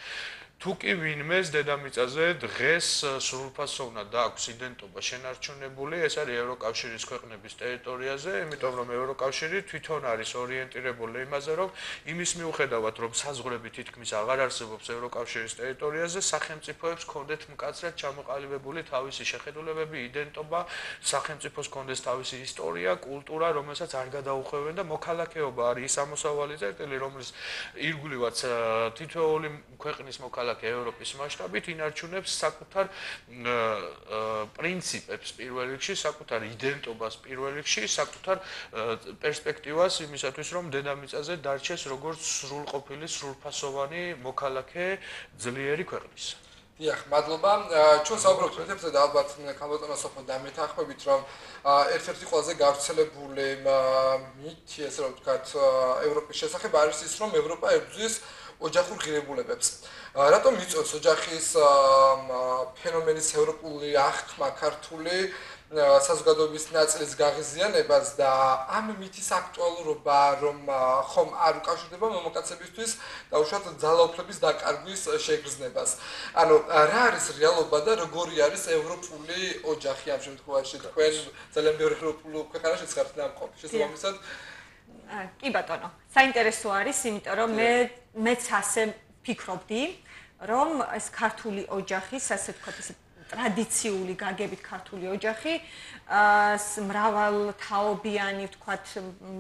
თუ კი ვინმეს დედამიწაზე დღეს სრულფასოვნად აქვს იდენტობა შენარჩუნებული, ეს არის ევროკავშირის ქვეყნების ტერიტორიაზე, იმიტომ რომ ევროკავშირი თვითონ არის ორიენტირებული იმაზე, რომ იმის მიუხედავად, რომ საზღვრები თითქმის აღარ არსებობს ევროკავშირის ტერიტორიაზე, სახელმწიფოებს ჰქონდეთ მკაცრად ჩამოყალიბებული თავისი შეხედულებები, იდენტობა, სახელმწიფოს ჰქონდეს თავისი ისტორია, კულტურა, რომელსაც არ გადაუხვევენ და მოქალაქეობა არის ის ამოსავალი წერტილი, რომლის ირგვლივაც თითოეული ქვეყნის მოქალაქე მოქალაქე ევროპის მასშტაბით ინარჩუნებს საკუთარ პრინციპებს პირველ რიგში, საკუთარ იდენტობას პირველ რიგში, საკუთარ პერსპექტივას იმისათვის, რომ დედამიწაზე დარჩეს როგორც სრულყოფილი, სრულფასოვანი მოქალაქე ძლიერი ქვეყნის. დიახ, მადლობა. ჩვენ საუბრობთ პრინციპებზე და ალბათ ქალბატონო სოფო დამეთანხმებით, რომ ერთ-ერთი ყველაზე გავრცელებული მითი, ესე რომ ვთქვათ, ევროპის შესახებ არის ის, რომ ევროპა ებრძვის ოჯახურ ღირებულებებს. რატომ იწვევს ოჯახის ფენომენის ევროპული აღქმა ქართული საზოგადოების ნაწილის გაღიზიანებას და ამ მითის აქტუალურობა, რომ ხომ არ უკავშირდება მამაკაცებისთვის დაუშვათ ძალაუფლების დაკარგვის შეგრძნებას. ანუ რა არის რეალობა და როგორი არის ევროპული ოჯახი ამ შემთხვევაში? თქვენ ძალიან ბევრი ევროპული ქვეყანაში ხართ დამყოფი. შესაბამისად კი ბატონო, საინტერესო არის, იმიტომ რომ მეც ასე ფიქრობდი, რომ ეს ქართული ოჯახი, ასე ვთქვათ, ეს ტრადიციული გაგებით ქართული ოჯახი, მრავალთაობიანი, ვთქვათ,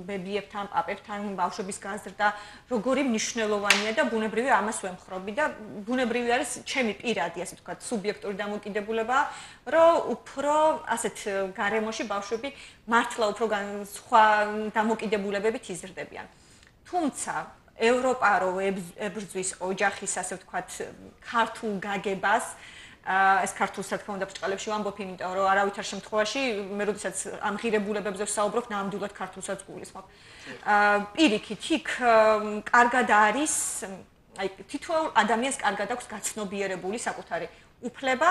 ბებიებთან, პაპებთან, ბავშვების გაზრდა, როგორი მნიშვნელოვანია და ბუნებრივი ამას ვემხრობი და ბუნებრივი არის ჩემი პირადი, ასე ვთქვათ, სუბიექტური დამოკიდებულება, რომ უფრო ასეთ გარემოში ბავშვები მართლა უფრო სხვა დამოკიდებულებებით იზრდებიან. თუმცა ევროპა რო ებრძვის ოჯახის, ასე ვთქვათ, ქართულ გაგებას, ეს ქართულს რა თქმა უნდა ბრჭყალებში ვამბობ, იმიტომ რომ არავითარ შემთხვევაში მე როდესაც ამ ღირებულებებზე ვსაუბრობ, ნამდვილად ქართულსაც გულისხმობ. პირიქით, იქ კარგად არის, აი თითოეულ ადამიანს კარგად აქვს გაცნობიერებული საკუთარი უფლება,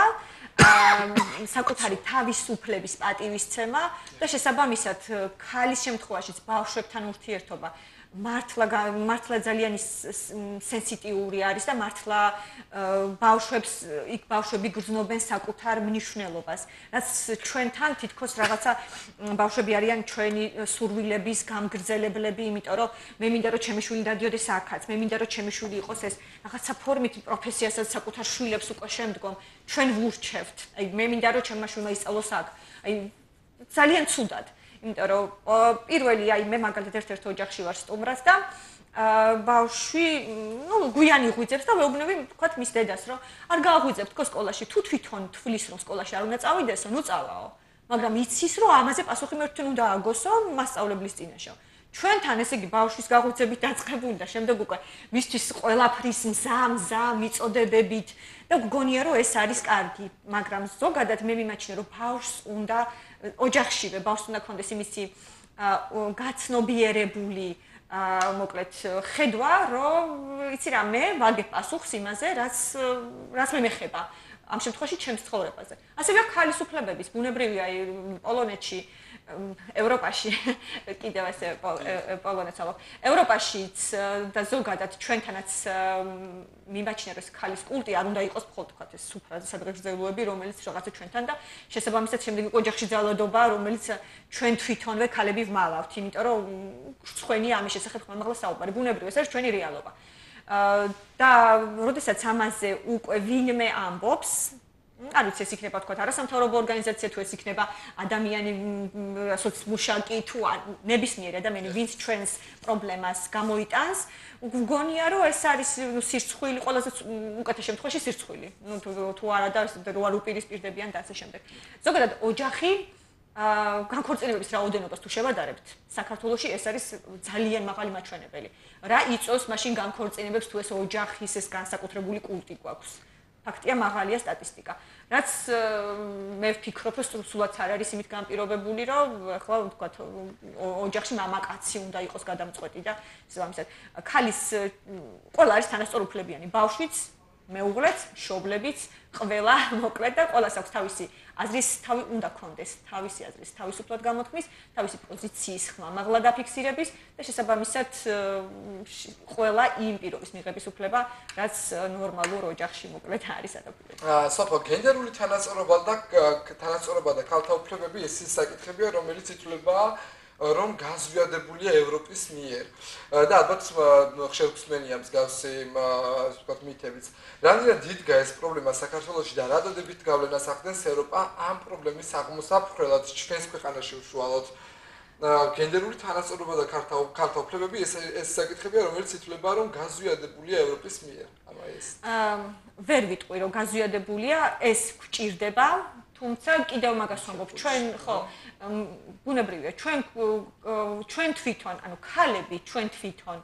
საკუთარი თავისუფლების პატივისცემა და შესაბამისად ქალის შემთხვევაშიც ბავშვებთან ურთიერთობა მართლა ძალიან სენსიტიური არის და მართლა ბავშვები გრძნობენ საკუთარ მნიშვნელობას, რაც ჩვენთან თითქოს რაღაცა ბავშვები არიან ჩვენი სურვილების გამგრძელებლები, იმიტომ რომ მე მინდა რომ ჩემი შვილი დადიოდეს აქაც, მე მინდა რომ ჩემი შვილი იყოს ეს რაღაცა ფორმით პროფესიასაც საკუთარ შვილებს უკვე შემდგომ ჩვენ ვურჩევთ. აი მე მინდა რომ ჩემმა შვილმა ისწავლოს აქ. აი ძალიან ცუდად. იმიტომ რომ პირველი აი მე მაგალითად ერთ-ერთ ოჯახში ვარ სტუმრად და ბავშვი, გვიანი ღვიძებს და ვეუბნები, ვთქვათ, მის დედას, რომ არ გააღვიძებ თქო სკოლაში, თუ თვითონ თვლის რომ სკოლაში არ უნდა წავიდესო, ნუ წავაო. მაგრამ იცის რომ ამაზე პასუხი მე თვითონ უნდა აგოსო მასწავლებლის წინაშე. ჩვენთან ესე იგი ბავშვის გაღვიძებით დაწყებული და შემდეგ უკვე მისთვის ყველაფრის მზა მიწოდებებით და გგონია რომ ეს არის კარგი, მაგრამ ზოგადად მე მიმაჩნია რომ ბავშვს უნდა ოჯახშივე ბავშვს უნდა ქონდეს იმისი გაცნობიერებული მოკლედ ხედვა, რომ იცი რა მე ვაგებ პასუხს იმაზე, რაც მე მეხება ამ შემთხვევაში ჩემს ცხოვრებაზე. ასევე ქალის უფლებების ბუნებრივია აი პოლონეთში ევროპაში კიდევ ასე პოლონეთს ვამბობ. ევროპაშიც და ზოგადად ჩვენთანაც მიმაჩნია რომ ქალის კულტი არ უნდა იყოს მხოლოდ თქვა ეს სუფრაზე სადღეგრძელოები, რომელიც რაღაცა ჩვენთან და შესაბამისად შემდეგ ოჯახში ძალადობა, რომელიც ჩვენ თვითონვე ქალები ვმალავთ, იმიტომ რომ ცხენია ამის შესახებ ხმამაღლა საუბარი. ბუნებრივია, ეს არის ჩვენი რეალობა. და როდესაც ამაზე უკვე ვინმე ამბობს, არ ვიცი ეს იქნება თქვა არასამთავრობო ორგანიზაცია თუ ეს იქნება ადამიანი სოციმუშაკი თუ ნებისმიერი ადამიანი ვინც ჩვენს პრობლემას გამოიტანს, გგონია რომ ეს არის სირცხვილი, ყველაზე უკეთეს შემთხვევაში სირცხვილი. თუ არა და რო არ უპირისპირდებიან და ასე შემდეგ. ზოგადად ოჯახი განქორწინებების რაოდენობას თუ შევადარებთ, საქართველოში ეს არის ძალიან მაღალი მაჩვენებელი. რა იწვევს მაშინ განქორწინებებს თუ ეს ოჯახის ეს განსაკუთრებული კულტი გვაქვს? ფაქტია მაღალია სტატისტიკა. რაც მე ვფიქრობ, რომ სულაც არ არის იმით განპირობებული, რომ ახლა ვთქვათ, ოჯახში მამაკაცი უნდა იყოს გადამწყვეტი და შესაბამისად, ქალის ყველა არის თანასწორუფლებიანი, ბავშვიც, მეუღლეც, მშობლებიც, ყველა მოკლედ და ყველას აქვს თავისი აზრის თავი უნდა ქონდეს, თავისი აზრის თავისუფლად გამოთქმის, თავისი პოზიციის ხმამაღლა დაფიქსირების და შესაბამისად ყველა იმ პირობის მიღების უფლება, რაც ნორმალურ ოჯახში მოკლედ არის ადაპტირებული. სოფო, გენდერული თანასწორობა და ქალთა უფლებები ეს ის საკითხებია, რომელიც ითვლება რომ გაზვიადებულია ევროპის მიერ და ალბათ ხშირგსმენია მსგავსი ასე ვთქვათ მითებიც. რამდენად დიდგა ეს პრობლემა საქართველოში და რა დადებით გავლენას ახდენს ევროპა ამ პრობლემის აღმოსაფხრელად ჩვენს ქვეყანაში უშუალოდ გენდერული თანასწორობა და ქალთა უფლებები ეს საკითხებია, რომელიც ითვლება, რომ გაზვიადებულია ევროპის მიერ. ვერ ვიტყვი, რომ გაზვიადებულია, ეს გვჭირდება, თუმცა კიდევ მაგას ვამბობ, ჩვენ ხო ბუნებრივია, ჩვენ თვითონ, ანუ ქალები ჩვენ თვითონ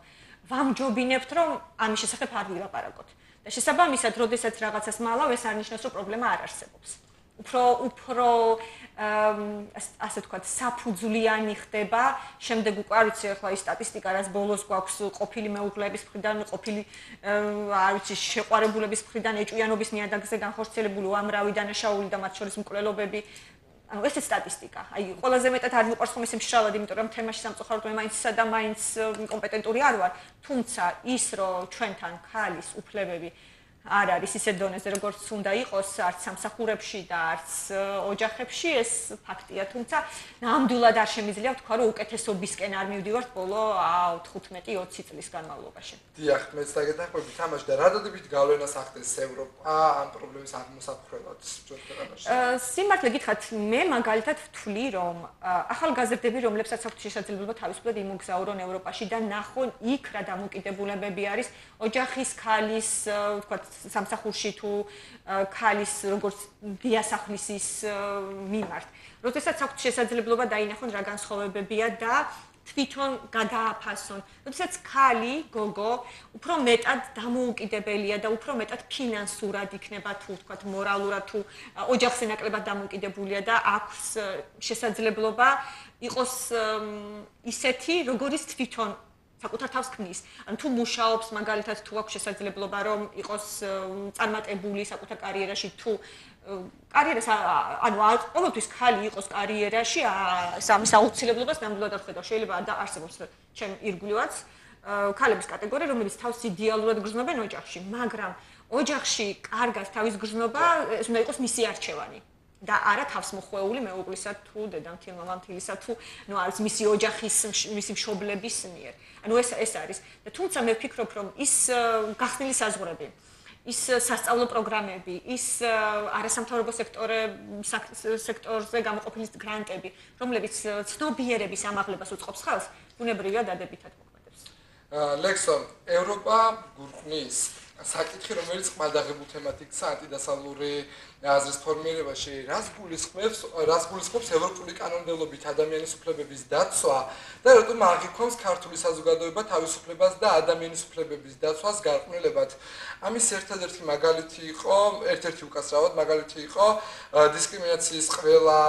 ვამჯობინებთ, რომ ამის შესახებ არ ვილაპარაკოთ. და შესაბამისად, როდესაც რაღაცას მალავ, ეს არ ნიშნავს, რომ პრობლემა არ არსებობს. უფრო ასე ვთქვათ, საფუძვლიანი ხდება, შემდეგ უკვე არ ვიცი ახლა ის სტატისტიკა, რაც ბოლოს გვაქვს ყოფილი მეუღლეების მხრიდან, ყოფილი არ ვიცი, შეყვარებულების მხრიდან, ეჭვიანობის ნიადაგზე განხორციელებული უამრავი დანაშაული და მათ შორის მკვლელობები. ანუ ეს სტატისტიკა. აი, ყველაზე მეტად არ მიყვარს ხომ ესე მშრალად, იმიტომ რომ თემაში სამწუხაროდ მე მაინც და მაინც კომპეტენტური არ ვარ, თუმცა ის რომ ჩვენთან ქალის უფლებები არ არის ისე დონეზე, როგორც უნდა იყოს, არც სამსახურებში და არც ოჯახებში, ეს ფაქტია, თუმცა ნამდვილად არ შემიძლია ვთქვა, რომ უკეთესობისკენ არ მივდივართ ბოლო 15-20 წლის განმავლობაში. დიახ, მეც დაგეთანხმებით თამაში და რა დადებით გავლენას ახდენს ევროპა ამ პრობლემის აღმოსაყრელად ჩვენ ქვეყანაში? სიმართლე გითხრათ, მე მაგალითად ვთვლი, რომ ახალგაზრდები, რომლებსაც აქვთ შესაძლებლობა თავისუფლად იმოგზაურონ ევროპაში და ნახონ იქ რა დამოკიდებულებები არის ოჯახის, ქალის, ვთქვათ, სამსახურში თუ ქალის როგორც დიასახლისის მიმართ. როდესაც აქვთ შესაძლებლობა დაინახონ რა განსხვავებებია და თვითონ გადააფასონ. როდესაც ქალი, გოგო, უფრო მეტად დამოუკიდებელია და უფრო მეტად ფინანსურად იქნება თუ ვთქვათ მორალურად თუ ოჯახზე ნაკლებად დამოუკიდებულია და აქვს შესაძლებლობა იყოს ისეთი, როგორიც თვითონ საკუთარ თავს ქმნის. ანუ თუ მუშაობს, მაგალითად თუ აქვს შესაძლებლობა რომ იყოს წარმატებული საკუთარ კარიერაში თუ კარიერას ანუ ყოველთვის ქალი იყოს კარიერაში, ამის აუცილებლობას ნამდვილად არ ხედავ. შეიძლება და არსებობს ჩემ ირგვლივაც ქალების კატეგორია, რომელიც თავს იდეალურად გრძნობენ ოჯახში, მაგრამ ოჯახში კარგად თავის გრძნობა ეს უნდა იყოს მისი არჩევანი. და არა თავსმოხვეული მეუღლისა თუ დედამთილ მამამთილისა თუ ნუ არის მისი ოჯახის მისი მშობლების მიერ. ანუ ეს არის. და თუმცა მე ვფიქრობ, რომ ის გახსნილი საზღვრები, ის სასწავლო პროგრამები, ის არასამთავრობო სექტორზე გამოყოფილი გრანტები, რომლებიც ცნობიერების ამაღლებას უწყობს ხალხს, ბუნებრივია დადებითად მოქმედებს. ლექსო, ევროპა გურყნის საკითხი, რომელიც ყმადაღებულ თემად იქცა ანტიდასავლური აზრის ფორმირებაში, რას გულისხმობს ევროპული კანონმდებლობით ადამიანის უფლებების დაცვა და რატომ აღიქვამს ქართული საზოგადოება თავისუფლებას და ადამიანის უფლებების დაცვას გარყვნილებად. ამის ერთადერთი მაგალითი იყო, ერთ-ერთი უკაცრავად მაგალითი იყო დისკრიმინაციის ყველა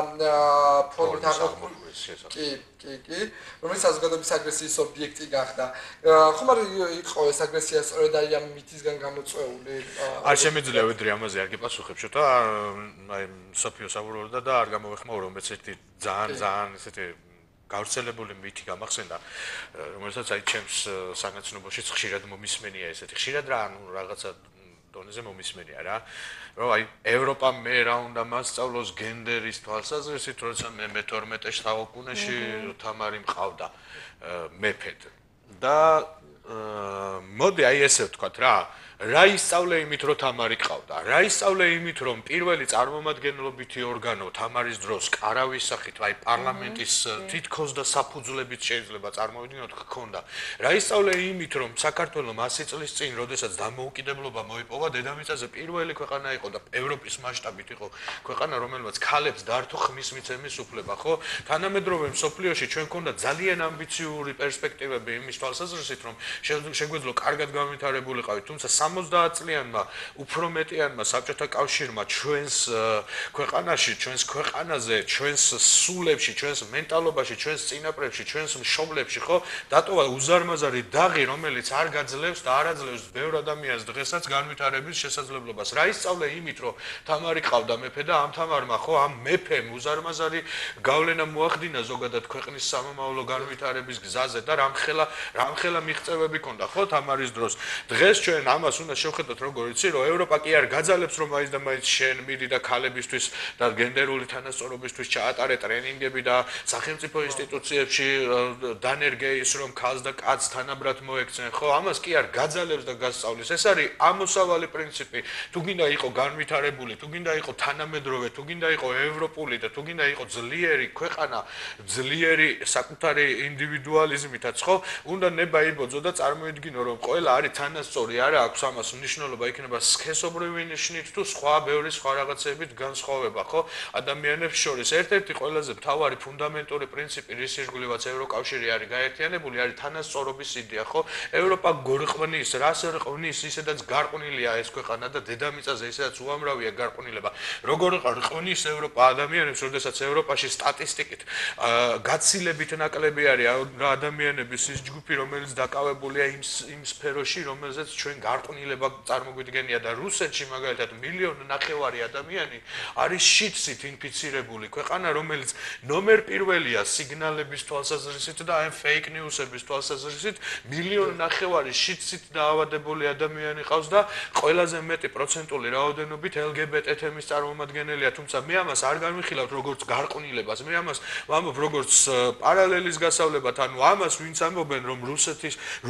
ფორმით აღიქვამს. კი, რომელიც საზოგადოების აგრესიის ობიექტი გახდა. ხომ არ იყო ეს აგრესია სწორედ აი ამ მითისგან გამოწვეული? არ შემიძლია ვიდრე ამაზე არ გიპასუხებ, შოთა აი სოფიო საბურავდა და არ გამოვეხმაურო, მეც ერთი ძალიან ესეთი გავრცელებული მითი გამახსენდა, რომელსაც აი ჩემს საგანცნობოშიც ხშირად მომისმენია ესეთი. ხშირად რა, ანუ რაღაცა დონეზე მომისმენია რა, რომ აი ევროპა მე რა უნდა მასწავლოს გენდერის თვალსაზრისით, როცა მე მე-12 საუკუნეში თამარი მყავდა მეფედ. და მოდი აი ესე ვთქვათ რა, რა ისწავლე იმით, რომ თამარი ყავდა? რა ისწავლე იმით, რომ პირველი წარმომადგენლობითი ორგანო თამარის დროს კარავის სახით, აი პარლამენტის თითქოს და საფუძვლებით შეიძლება წარმოვიდგინოთ ჰქონდა. რა ისწავლე იმით, რომ საქართველოს 100 წლის წინ, როდესაც დამოუკიდებლობა მოიპოვა, დედამიწაზე პირველი ქვეყანა იყო და ევროპის მასშტაბით იყო ქვეყანა, რომელმაც ქალებს დართო ხმის მიცემის უფლება, ხო? თანამედროვე მსოფლიოში ჩვენ გქონდა ძალიან ამბიციური პერსპექტივები იმის თვალსაზრისით, რომ შეგვეძლო კარგად განვითარებულიყავით, თუმცა 70 წლიანმა უფრო მეტიანმა საბჭოთა კავშირმა ჩვენს ქვეყანაში, ჩვენს ქვეყანაზე, ჩვენს სულებში, ჩვენს მენტალობაში, ჩვენს წინაპრებში, ჩვენს მშობლებში, ხო, დატოვა უზარმაზარი დაღი, რომელიც არ გაძლევს და არ აძლევს ბევრ ადამიანს დღესაც განვითარების შესაძლებლობას. რა ისწავლე იმით, რომ თამარი ყავდა მეფე და ამ თამარმა, ხო, ამ მეფემ უზარმაზარი გავლენა მოახდინა ზოგადად ქვეყნის სამომავლო განვითარების გზაზე და რამხელა მიღწევები ჰქონდა, ხო, თამარის დროს. დღეს ჩვენ ამას უნდა შევხედოთ როგორ იცი რომ ევროპა კი არ გაძალებს რომ მაინც და მაინც შენ მიდი და ქალებისთვის და გენდერული თანასწორობისთვის ჩაატარე ტრენინგები და სახელმწიფო ინსტიტუციებში დანერგე ის რომ ქალს და კაცს თანაბრად მოექცენ ხო ამას კი არ გაძალებს და გასწავლის ეს არის ამოსავალი პრინციპი თუ გინდა იყო განვითარებული თუ გინდა იყო თანამედროვე თუ გინდა იყო ევროპული და თუ გინდა იყო ძლიერი ქვეყანა ძლიერი საკუთარი ინდივიდუალიზმითაც ხო უნდა ნება იბოძო და წარმოიდგინო რომ ყველა არის თანასწორი არა აქვს ამას მნიშვნელობა იქნება სქესობრივი ნიშნით თუ სხვა ბევრი სხვა რაღაცებით განსხვავება ხო ადამიანებს შორის ერთ-ერთი ყველაზე მთავარი ფუნდამენტური პრინციპი რის ირგვლივაც ევროკავშირი არის გაერთიანებული არის თანასწორობის იდეა ხო ევროპა გორყმნის რას რყმნის ისედაც გარყვნილია ეს ქვეყანა და დედამიწაზე ისედაც უამრავია გარყვნილება როგორ რყმნის ევროპა ადამიანებს როდესაც ევროპაში სტატისტიკით გაცილებით ნაკლები არის რა ადამიანების ის ჯგუფი რომელიც დაკავებულია იმ სფეროში რომელზეც ჩვენ გარყვნილება წარმოგვიდგენია და რუსეთში მაგალითად 1.5 მილიონი ადამიანი არის შიდსით ინფიცირებული ქვეყანა რომელიც ნომერ პირველია სიგნალების თვალსაზრისით და აი ფეიქ ნიუსების თვალსაზრისით 1.5 მილიონი შიდსით დაავადებული ადამიანი ყავს და ყველაზე მეტი პროცენტული რაოდენობით LGBT თემის წარმომადგენელია თუმცა მე ამას არ განვიხილავთ როგორც გარყვნილებას მე ამას ვამბობ როგორც პარალელის გასავლებად ანუ ამას ვინც ამბობენ რომ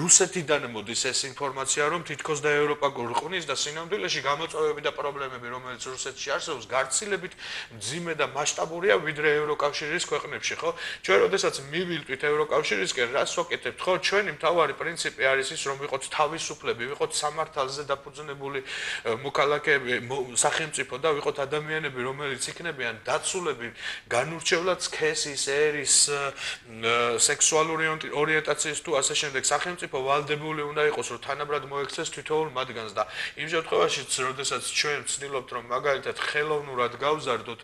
რუსეთიდან მოდის ეს ინფორმაცია რომ თითქოს და ევროპა გორყმნის და სინამდვილეში გამოწვევები და პრობლემები რომელიც რუსეთში არსებობს გარცილებით მძიმე და მასშტაბურია ვიდრე ევროკავშირის ქვეყნებში ხო ჩვენ როდესაც მივილტვით ევროკავშირისკენ რას ვაკეთებთ ხო ჩვენი მთავარი პრინციპი არის ის რომ ვიყოთ თავისუფლები ვიყოთ სამართალზე დაფუძნებული მოქალაქეები სახელმწიფო და ვიყოთ ადამიანები რომელიც იქნებიან დაცულები განურჩევლად სქესის ერის სექსუალური ორიენტაციის თუ ასე შემდეგ სახელმწიფო ვალდებული უნდა იყოს რომ თანაბრად მოექცეს თითოეულ მათგანს და იმ შემთხვევაშიც როდესაც ჩვენ ვცდილობთ რომ მაგალითად ხელოვნურად გავზარდოთ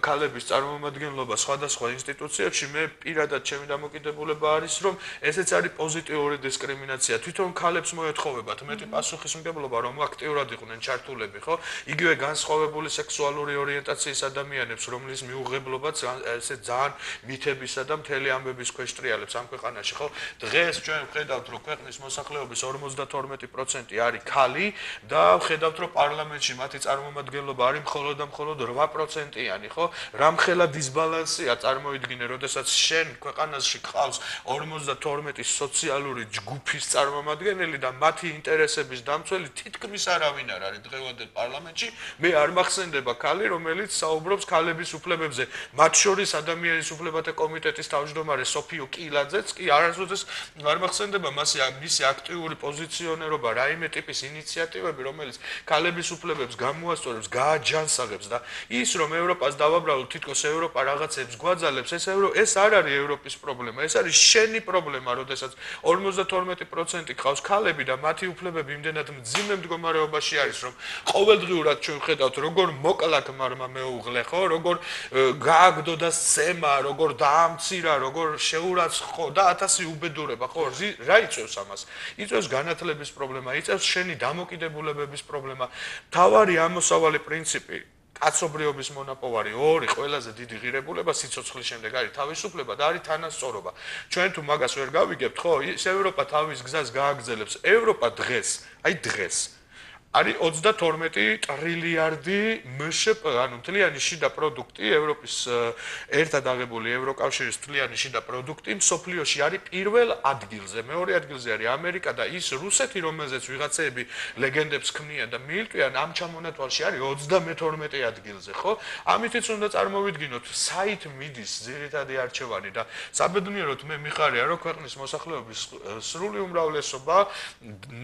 ქალების წარმომადგენლობა სხვადასხვა ინსტიტუციებში მე პირადად ჩემი დამოკიდებულება არის რომ ესეც არის პოზიტიური დისკრიმინაცია თვითონ ქალებს მოეთხოვებათ მეტი პასუხისმგებლობა რომ აქტიურად იყვნენ ჩართულები ხო იგივე განსხვავებული სექსუალური ორიენტაციის ადამიანებს რომლის მიუღებლობაც ესე ძალიან მითებისა და მთელი ამბების ქვეშ ტრიალებს ამ ქვეყანაში ხო დღეს ჩვენ ვხედავთ რომ ქვეყნის მოსახლეობის 52% არის ქალი და ვხედავთ რომ პარლამენტში მათი წარმომადგენლობა არის მხოლოდ და მხოლოდ 8%-იანი ხო რამხელა დისბალანსია წარმოიდგინე როდესაც შენ ქვეყანაში ყავს 52 სოციალური ჯგუფის წარმომადგენელი და მათი ინტერესების დამცველი თითქმის არავინ არ არის დღევანდელ პარლამენტში მე არ მახსენდება ქალი რომელიც საუბრობს ქალების უფლებებზე მათ შორის ადამიანის უფლებათა კომიტეტის თავმჯდომარე სოფიო კილაძეც კი არასოდეს არ მახსენდება მისი აქტიური პოზიციონერობა რაიმე ტიპის ინიციატივები რომელიც ქალების უფლებებს გამოასწორებს გააჯანსაღებს და ის რომ ევროპას დავაბრალოთ თითქოს ევროპა რაღაცებს გვაძალებს ეს არ არის ევროპის პრობლემა ეს არის შენი პრობლემა როდესაც 52% ყავს ქალები და მათი უფლებები იმდენად მძიმე მდგომარეობაში არის რომ ყოველდღიურად ჩვენ ვხედავთ როგორ მოკლათ მარმა მეუღლე ხო როგორ გააგდო და სცემა როგორ დაამცირა როგორ შეურაცხო და 1000 უბედურება ხო რა იწევს ამას იწევს განათლების პრობლემა იწევს შენი დამოკიდებულებების პრობლემა თავარი ამოსავალი პრინციპი კაცობრიობის მონაპოვარი ორი ყველაზე დიდი ღირებულება სიცოცხლის შემდეგ არის თავისუფლება და არის თანასწორობა ჩვენ თუ მაგას ვერ გავიგებთ ხო ის ევროპა თავის გზას გააგრძელებს ევროპა დღეს არის 32 ტრილიარდი მშპ, ანუ მთლიანი შიდა პროდუქტი ევროპის ერთად აღებული ევროკავშირის მთლიანი შიდა პროდუქტი მსოფლიოში არის პირველ ადგილზე, მეორე ადგილზე არის ამერიკა და ის რუსეთი, რომელზეც ვიღაცები ლეგენდებს ქმნიან და მიილტვიან ამ ჩამონათვალში არის 32 ადგილზე, ხო? ამითაც უნდა წარმოვიდგინოთ, საით მიდის ძირითადი არჩევანი და საბედნიეროდ მე მიხარია, რომ ქვეყნის მოსახლეობის სრული უმრავლესობა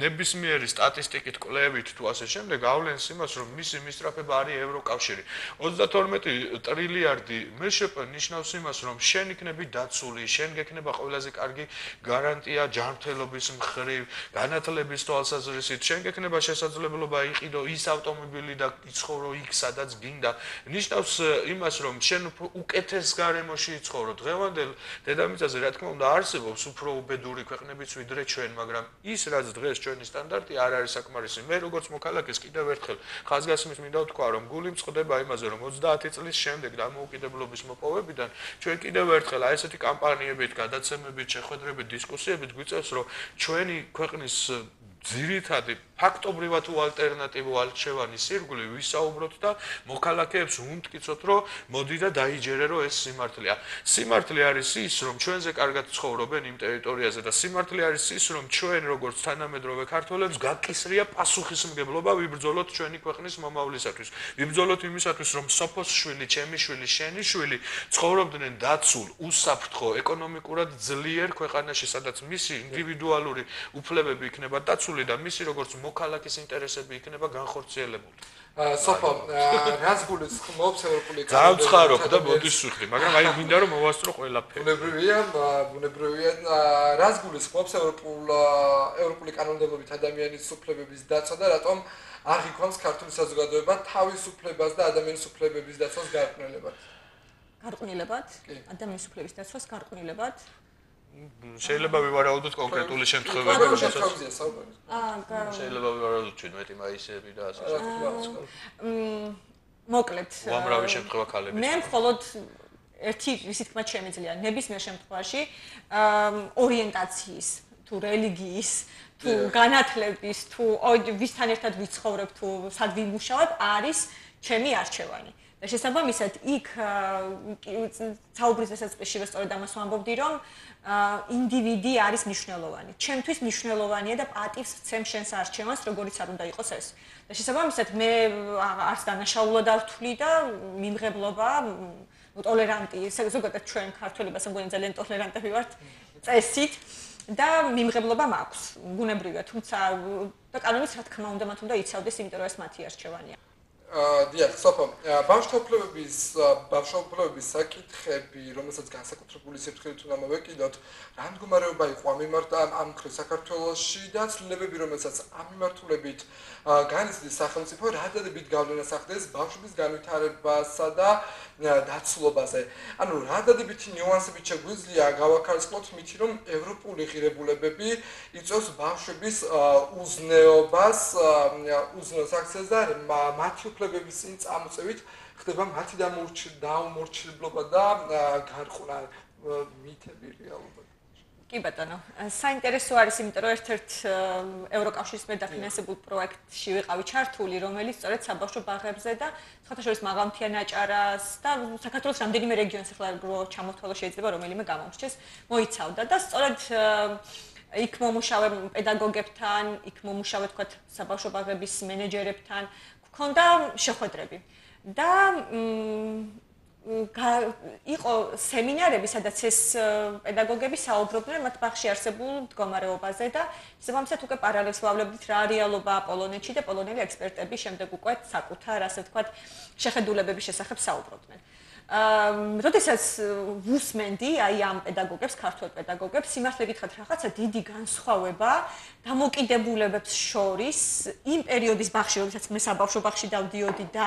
ნებისმიერი სტატისტიკით კვლევით თუ ასე შემდეგ ავლენს იმას, რომ მისი მისწრაფება არის ევროკავშირი. 32 ტრილიარდი მშპ ნიშნავს იმას, რომ შენ იქნები დაცული, შენ გექნება ყველაზე კარგი გარანტია ჯანმრთელობის მხრივ, განათლების თვალსაზრისით, შენ გექნება შესაძლებლობა იყიდო ის ავტომობილი და იცხოვრო იქ, სადაც გინდა. ნიშნავს იმას, რომ შენ უკეთეს გარემოში იცხოვრო. დღევანდელ დედამიწაზე, რა თქმა უნდა, არსებობს უფრო უბედური ქვეყნებიც ვიდრე ჩვენ, მაგრამ ის რაც დღეს ჩვენი სტანდარტი არ არის საკმარისი. მე როგორც მოქალაქეს კიდევ ერთხელ ხაზგასმის მინდა ვთქვა, რომ გული მწყდება იმაზე, რომ 30 წლის შემდეგ დამოუკიდებლობის მოპოვებიდან ჩვენ კიდევ ერთხელ აი ესეთი კამპანიებით, გადაცემებით, შეხვედრებით, დისკუსიებით გვიწევს, რომ ჩვენი ქვეყნის ძირითადი ფაქტობრივად თუ ალტერნატივო არჩევანის ირგვლივ ვისაუბროთ და მოქალაქეებს უნტკიცოთ, რომ მოდი და დაიჯერე, რომ ეს სიმართლეა. სიმართლე არის ის, რომ ჩვენზე კარგად ცხოვრობენ იმ ტერიტორიაზე და სიმართლე არის ის, რომ ჩვენ როგორც თანამედროვე ქართველებს გაკისრია პასუხისმგებლობა ვიბრძოლოთ ჩვენი ქვეყნის მომავლისათვის. ვიბრძოლოთ იმისათვის, რომ სოფოს შვილი, ჩემი შვილი, შენი შვილი ცხოვრობდნენ დაცულ, უსაფრთხო, ეკონომიკურად ძლიერ ქვეყანაში, სადაც მისი ინდივიდუალური უფლებები იქნება დაცული და მისი როგორც მოქალაქის ინტერესები იქნება განხორციელებული. სოფო, რას გულისხმობს ევროპული ძალიან ვცხარობ და მოდის ვიხდი, მაგრამ აი მინდა რომ მოვასწრო ყველაფერი. ბუნებრივია, რას გულისხმობს ევროპული კანონმდებლობით ადამიანის უფლებების დაცვა და რატომ აღიქვამს ქართული საზოგადოება თავისუფლებას და ადამიანის უფლებების დაცვას გარყვნილებად? გარყვნილებად? ადამიანის უფლების დაცვას გარყვნილებად? შეიძლება ვივარაუდოთ კონკრეტული შემთხვევები, შეიძლება ვივარაუდოთ 17 მაისები და ასე შემდეგ. მოკლედ, უამრავი შემთხვევა ქალების. მე მხოლოდ ერთი ისეთი თქმა შემიძლია, ნებისმიერ შემთხვევაში ორიენტაციის, თუ რელიგიის, თუ განათლების, თუ ვისთან ერთად ვიცხოვრებ, თუ სად ვიმუშავებ, არის ჩემი არჩევანი. და შესაბამისად, იქ საუბრის დასაწყისშივე სწორედ ამას ვამბობდი, რომ ინდივიდი არის მნიშვნელოვანი. ჩემთვის მნიშვნელოვანია და პატივს ვცემ შენს არჩევანს, როგორიც არ უნდა იყოს ეს. და შესაბამისად, მე არც დანაშაულად არ ვთვლი და მიმღებლობა, ტოლერანტი, ზოგადად ჩვენ ქართველებსაც მგონი ძალიან ტოლერანტები ვართ წესით და მიმღებლობა მაქვს. ბუნებრივია, თუმცა და კანონიც რა თქმა უნდა მათ უნდა იცავდეს, იმიტომ რომ ეს მათი არჩევანია. დიახ, სოფო, ბავშვთა უფლებების საკითხები, რომელსაც განსაკუთრებული სიფრთხილით უნდა მოვეკიდოთ, რა მდგომარეობა იყო ამ მიმართ ამ მხრივ საქართველოში და ცვლილებები, რომელსაც ამ მიმართულებით განიცდის სახელმწიფო, რა დადებით გავლენას ახდენს ბავშვების განვითარებასა და დაცულობაზე. ანუ რა დადებითი ნიუანსებით შეგვიძლია გავაქარწყლოთ მითი, რომ ევროპული ღირებულებები იწვევს ბავშვების უზნეობას, უზნეოს აქცეს და მათი უფლებების წინ წამოწევით ხდება მათი დაუმორჩილებლობა და გარყვნილება მითები რეალურად. კი ბატონო, საინტერესო არის, იმიტომ რომ ერთ-ერთ ევროკავშირის მიერ დაფინანსებულ პროექტში ვიყავი ჩართული, რომელიც სწორედ საბავშვო ბაღებზე და სხვათა შორის მაღალმთიან აჭარას და საქართველოს რამდენიმე რეგიონს ახლა რო ჩამოთვალო შეიძლება რომელიმე გამომრჩეს, მოიცავდა და სწორედ იქ მომუშავე პედაგოგებთან, იქ მომუშავე თქვათ საბავშვო ბაღების მენეჯერებთან, გქონდა შეხვედრები და იყო სემინარები, სადაც ეს პედაგოგები საუბრობდნენ მათ ბაღში არსებულ მდგომარეობაზე და შესაბამისად უკვე პარალელს ვავლებდით რა რეალობა პოლონეთში და პოლონელი ექსპერტები შემდეგ უკვე საკუთარ, ასე ვთქვათ, შეხედულებების შესახებ საუბრობდნენ. როდესაც ვუსმენდი აი ამ პედაგოგებს, ქართველ პედაგოგებს, სიმართლე გითხრათ, რაღაცა დიდი განსხვავება დამოკიდებულებებს შორის იმ პერიოდის ბაღში, როდესაც მე საბავშვო ბაღში დავდიოდი და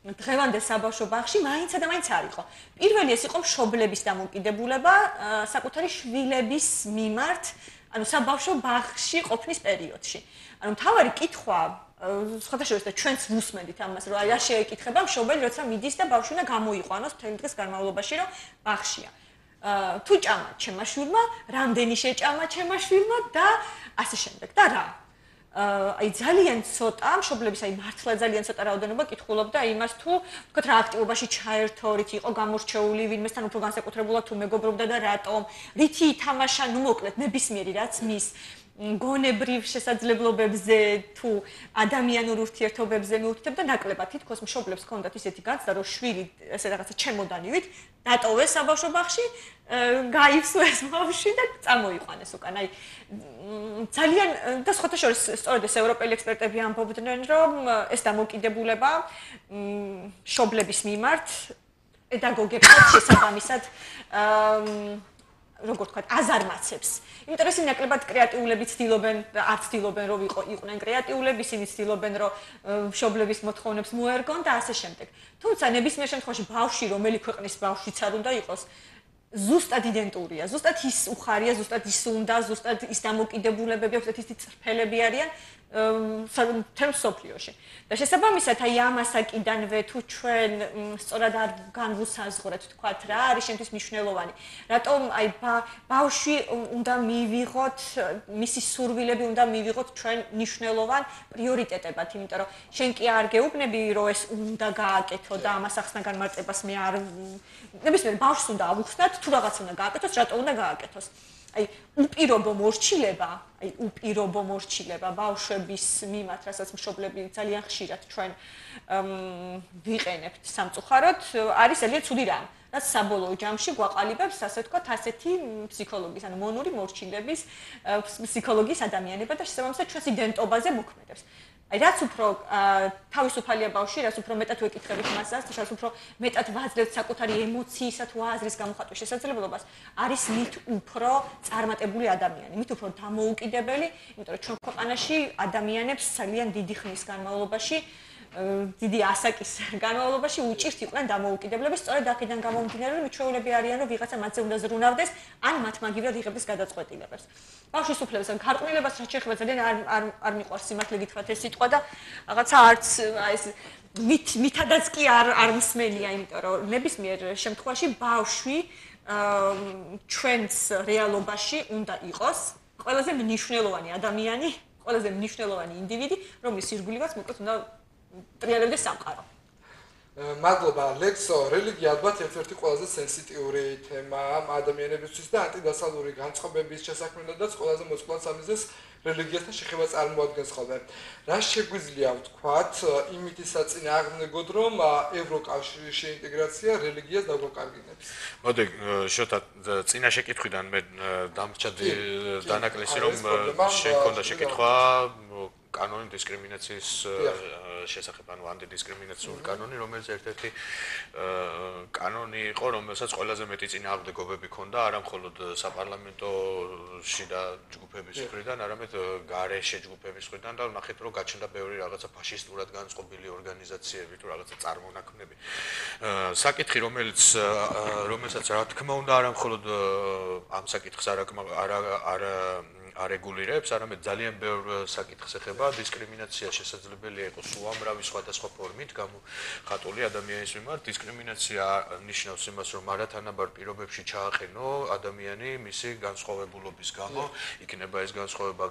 დღევანდელ საბავშვო ბაღში მაინცა და მაინც არ იყო. პირველი ეს იყო მშობლების დამოკიდებულება საკუთარი შვილების მიმართ, ანუ საბავშვო ბაღში ყოფნის პერიოდში. ანუ მთავარი კითხვა სხვათა შორის და ჩვენც ვუსმენდით ამას, რომ აი რა შეეკითხება მშობელი, როცა მიდის და ბავშვი უნდა გამოიყვანოს მთელი დღის განმავლობაში, რომ ბაღშია. თუ ჭამა ჩემმა შვილმა, რამდენი შეჭამა ჩემმა შვილმა და ასე შემდეგ და რა. აი ძალიან ცოტა მშობლების აი მართლა ძალიან ცოტა რაოდენობა კითხულობდა იმას თუ თქვათ რა აქტივობაში ჩაერთო, რითი იყო გამორჩეული, ვინმესთან უფრო განსაკუთრებულად თუ მეგობრობდა და რატომ, რითი ითამაშა, ნუ მოკლედ ნებისმიერი რაც მის გონებრივ შესაძლებლობებზე თუ ადამიანურ ურთიერთობებზე მიუთითებდა ნაკლებად თითქოს მშობლებს ჰქონდათ ისეთი განცდა რომ შვილი ესე რაღაცა ჩემოდანივით დატოვეს საბავშვო ბაღში, გაივსვეს ბავშვი და წამოიყვანეს უკან. აი ძალიან და სხვათა შორის სწორედ ეს ევროპელი ექსპერტები ამბობდნენ რომ ეს დამოკიდებულება მშობლების მიმართ პედაგოგებსაც შესაბამისად როგორ თქვა, აზარმაცებს. იმიტომ რომ ისინი ნაკლებად კრეატიულები ცდილობენ, არ ცდილობენ რომ იყვნენ კრეატიულები, ისინი ცდილობენ რომ მშობლების მოთხოვნებს მოერგონ და ასე შემდეგ. თუმცა ნებისმიერ შემთხვევაში ბავშვი, რომელი ქვეყნის ბავშვიც არ უნდა იყოს, ზუსტად იდენტურია, ზუსტად ის უხარია, ზუსტად ის უნდა, ზუსტად ის დამოკიდებულებები აქვს, ზუსტად ის წრფელები არიან, თემ სოფლიოში. და შესაბამისად, აი ამას აკიდანვე თუ ჩვენ სწორად არ განვუსაზღვრეთ, თქვათ რა არის შემთხვევით მნიშვნელოვანი. რატომ აი ბავშვი უნდა მივიღოთ, მისი სურვილები უნდა მივიღოთ ჩვენ მნიშვნელოვან პრიორიტეტებად, იმიტომ რომ შენ კი არ გეუბნები, რომ ეს უნდა გააკეთო და ამას ახსნა განმარტებას მე არ ნებისმიერ ბავშვს უნდა ავუხსნათ, თუ რაღაც უნდა გააკეთოს, რატო უნდა გააკეთოს. აი უპირობო მორჩილება ბავშვების მიმართ, რასაც მშობლები ძალიან ხშირად ჩვენ ვიყენებთ სამწუხაროდ, არის ძალიან ცუდი რამ. რაც საბოლოო ჯამში გვაყალიბებს, ასე ვთქვათ, ასეთი ფსიქოლოგიის, ანუ მონური მორჩილების ფსიქოლოგიის ადამიანება და შესაბამისად ჩვენს იდენტობაზე მოქმედებს. აი რაც უფრო თავისუფალია ბავშვი, რაც უფრო მეტად ვეკითხებით მასას, რაც უფრო მეტად ვაძლევთ საკუთარი ემოციისა თუ აზრის გამოხატვის შესაძლებლობას, არის მით უფრო წარმატებული ადამიანი, მით უფრო დამოუკიდებელი, იმიტომ რომ ჩვენ ქვეყანაში ადამიანებს ძალიან დიდი ხნის განმავლობაში დიდი ასაკის განმავლობაში უჭირთ იყვნენ დამოუკიდებლები, სწორედ აქედან გამომდინარე, რომ მიჩვეულები არიან, რომ ვიღაცა მათზე უნდა ზრუნავდეს, ან მათ მაგივრად იღებს გადაწყვეტილებებს. ბავშვის უფლებასა და გარყვნილებას რაც შეეხება ძალიან არ მიყვარს სიმართლე გითხრათ ეს სიტყვა და რაღაცა არც ეს მითადაც კი არ მსმენია, იმიტომ რომ ნებისმიერ შემთხვევაში ბავშვი ჩვენს რეალობაში უნდა იყოს ყველაზე მნიშვნელოვანი ადამიანი, ყველაზე მნიშვნელოვანი ინდივიდი, რომლის ირგვლივაც მოკლედ უნდა ტრიალებდეს სამყარო. მადლობა ლექსო, რელიგია ალბათ ერთ-ერთი ყველაზე სენსიტიური თემაა ადამიანებისთვის და ანტიდასალური განწყობების შესაქმნელადაც ყველაზე მოწყვლად სამიზეს რელიგიასთან შეხება წარმოადგენს ხოლმე. რა შეგვიძლია ვთქვათ იმითი საწინააღმდეგოდ, რომ ევროკავშირის შეინტეგრაცია რელიგიას დაგვაკარგინებს? მოდი, შოთა წინა შეკითხვიდან მე დამრჩა დანაკლისი, რომ შენ ქონდა შეკითხვა კანონი დისკრიმინაციის შესახებ, ანუ ანტიდისკრიმინაციული კანონი, რომელიც ერთ-ერთი კანონი იყო, რომელსაც ყველაზე მეტი წინააღმდეგობები ჰქონდა, არა მხოლოდ საპარლამენტოში და ჯგუფების მხრიდან, არამედ გარეშე ჯგუფების მხრიდან და ნახეთ, რომ გაჩნდა ბევრი რაღაცა ფაშისტურად განწყობილი ორგანიზაციები თუ რაღაცა წარმონაქმნები. საკითხი, რომელსაც რა თქმა უნდა, არა მხოლოდ ამ საკითხს არეგულირებს, არამედ ძალიან ბევრ საკითხს ეხება, დისკრიმინაცია შესაძლებელია იყოს უამრავი სხვადასხვა ფორმით გამოხატული ადამიანის მიმართ. დისკრიმინაცია ნიშნავს იმას, რომ არათანაბარ პირობებში ჩააყენო ადამიანი მისი განსხვავებულობის გამო, იქნება ეს განსხვავება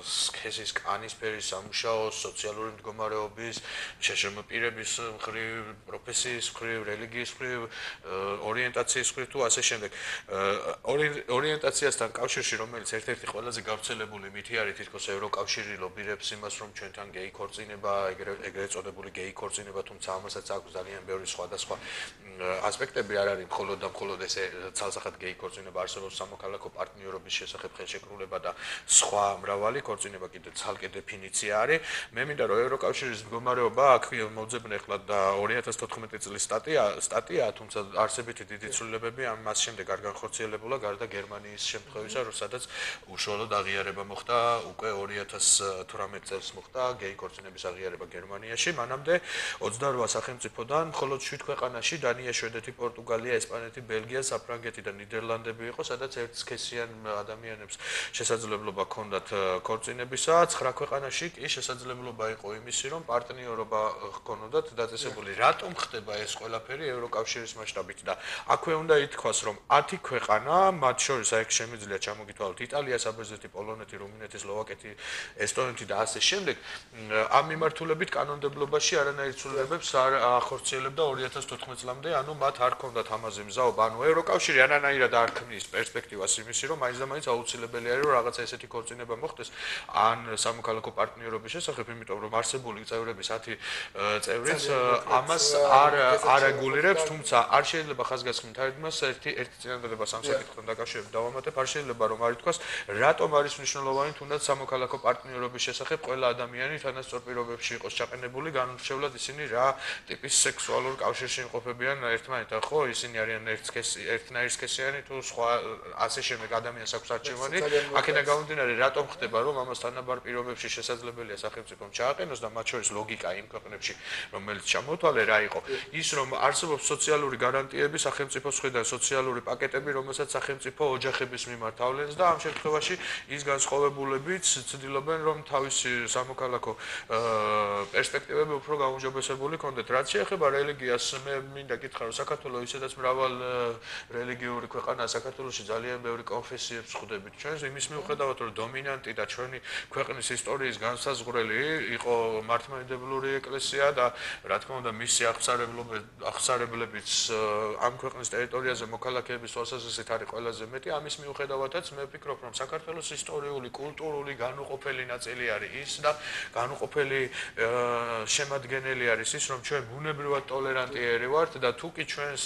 სქესის, კანის ფერის, სამუშაოს, სოციალური მდგომარეობის, შეშრმა პირების მხრივ, პროფესიის მხრივ, რელიგიის მხრივ, ორიენტაციის მხრივ თუ ასე შემდეგ. ორიენტაციასთან კავშირში, რომელიც ერთ-ერთი ყველაზე გავრცელებული მითი არის, თითქოს ევროკავშირი ლობირებს იმას, რომ ჩვენთან გეი ქორწინება, ეგრეთ წოდებული გეი ქორწინება, თუმცა ამასაც აქვს ძალიან ბევრი სხვადასხვა ასპექტები, არ არის მხოლოდ და მხოლოდ ესე ცალსახად გეი ქორწინება, არსებობს სამოქალაქო პარტნიორობის შესახებ ხელშეკრულება და სხვა მრავალი ქორწინება კიდე ცალკე დეფინიცია არის. მე მინდა რომ ევროკავშირის მდგომარეობა აქ მოძებნე ახლა და 2014 წლის სტატია, თუმცა არსებითი დიდი ცვლილებები ამას შემდეგ არ განხორციელებულა გარდა გერმანიის შემთხვევისა, სადაც უშუალოდ აღიარება მოხდა უკვე 2018 წელს მოხდა გეი ქორწინების აღიარება გერმანიაში. მანამდე 28 სახელმწიფოდან მხოლოდ 7 ქვეყანაში დანია, შვედეთი, პორტუგალია, ესპანეთი, ბელგია, საფრანგეთი და ნიდერლანდები იყო, სადაც ერთსქესიან ადამიანებს შესაძლებლობა ჰქონდათ ქორწინებისა. 9 ქვეყანაში კი შესაძლებლობა იყო იმისი, რომ პარტნიორობა ჰქონოდათ დაწესებული. რატომ ხდება ეს ყველაფერი ევროკავშირის მასშტაბით და აქვე უნდა ითქვას, რომ 10 ქვეყანა, მათ შორის აქ შემიძლია ჩამოგითვალოთ იტალია, საბერძნეთი, პოლონეთი, რუმინეთი, სლოვაკეთი, ესტონეთი და ასე შემდეგ, ამ მიმართულებით კანონმდებლობაში არანაირ ცვლილებებს არ ახორციელებდა 2014 წლამდე, ანუ მათ არ ჰქონდათ ამაზე მზაობა, ანუ ევროკავშირი არანაირად არ ქმნის პერსპექტივას იმისი, რომ მაინც და მაინც აუცილებელი არის, რომ რაღაცა ესეთი ქორწინება მოხდეს ან სამოქალაქო პარტნიორობის შესახებ, იმიტომ რომ არსებული წევრების 10 წევრიც ამას არ რეგულირებს, თუმცა არ შეიძლება ხაზგასმით არ ითქმას ერთი წინადადება სამ საკითხთან დაკავშირებით დავამატებ, არ შეიძლება რომ არ ითქვას, რატომ არის მნიშვნელოვანი თუნდაც სამოქალაქო პარტნიორობის შესახებ ყველა ადამიანი თანასწორ პირობებში იყოს ჩაყენებული, განურჩევლად ისინი რა ტიპის სექსუალურ კავშირში იმყოფებიან ერთმანეთთან, ხო, ისინი არიან ერთნაირსქესიანი თუ სხვა ასე შემდეგ ადამიანს აქვს არჩევანი. აქედან გამომდინარე, რატომ ხდება, რომ ამას თანაბარ პირობებში შესაძლებელია სახელმწიფომ ჩააყენოს და მათ შორის ლოგიკა იმ ქვეყნებში, რომელიც ჩამოთვალე რა იყო, ის რომ არსებობს სოციალური გარანტიები სახელმწიფოს მხრიდან, სოციალური პაკეტები, რომელსაც სახელმწიფო ოჯახების მიმართ ავლენს და ამ შემთხვევაში ის განსხვავებულებიც ცდილობენ რომ თავისი სამოქალაქო პერსპექტივები უფრო გაუმჯობესებული კონდეთ. რაც შეეხება რელიგიას, მე მინდა გითხრა რომ საქართველოს ისედაც მრავალ რელიგიური ქვეყანაა, საქართველოში ძალიან ბევრი კონფესიებს ხვდებით ჩვენს, იმის მიუხედავად რომ დომინანტი და ჩვენი ქვეყნის ისტორიის განსაზღვრელი იყო მართლმადიდებლური ეკლესია და რა თქმა უნდა მისი აღსარებლებიც ამ ქვეყნის ტერიტორიაზე მოქალაქეების თვალსაზრისით არის ყველაზე მეტი, ამის მიუხედავადაც მე ვფიქრობ რომ საქართველოს ისტორიული, კულტურული განუყოფელი ნაწილი არის ის და განუყოფელი შემადგენელი არის ის, რომ ჩვენ ბუნებრივად ტოლერანტიერი ვართ და თუ კი ჩვენს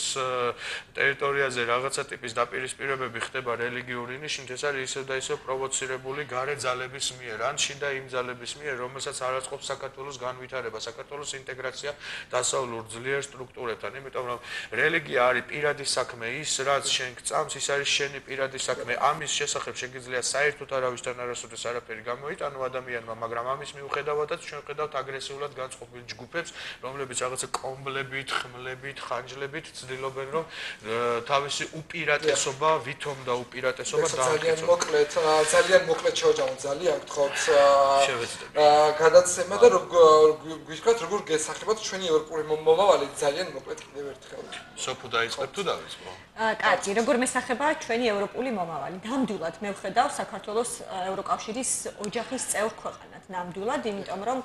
ტერიტორიაზე რაღაცა ტიპის დაპირისპირებები ხდება რელიგიური ნიშნით, ეს არის ისევ და ისევ პროვოცირებული გარე ძალების მიერ, ან შიდა იმ ძალების მიერ, რომელსაც არ აწყობს საქართველოს განვითარება, საქართველოს ინტეგრაცია დასავლურ ძლიერ სტრუქტურებთან, იმიტომ რომ რელიგია არის პირადი საქმე, ის რაც შენ გწამს, ის არის შენი პირადი საქმე, ამის შესახებ შეგიძლია საერთოდ არავისთან არასოდეს არაფერი გამოიტანო ადამიანმა, მაგრამ ამის მიუხედავადაც ჩვენ ხედავთ აგრესიულად განწყობილ ჯგუფებს, რომლებიც რაღაცა კომბლებით, ხმლებით, ხანჯლებით ცდილობენ რომ თავისი უპირატესობა, ვითომ და უპირატესობა დაამტკიცონ. ძალიან მოკლედ შევაჯამოთ ძალიან გთხოვთ გადაცემა და გითხრათ როგორ გესახებათ ჩვენი ევროპული მომავალი ძალიან მოკლედ კიდევ ერთხელ. სოფუ დაიწყებ თუ დავიწყო? კაცი, როგორ მესახება ჩვენი ევროპული მომავალი? ნამდვილად მე ვხედავ საქართველოს ევროკავშირის ოჯახის წევრ ქვეყანად. ნამდვილად, იმიტომ რომ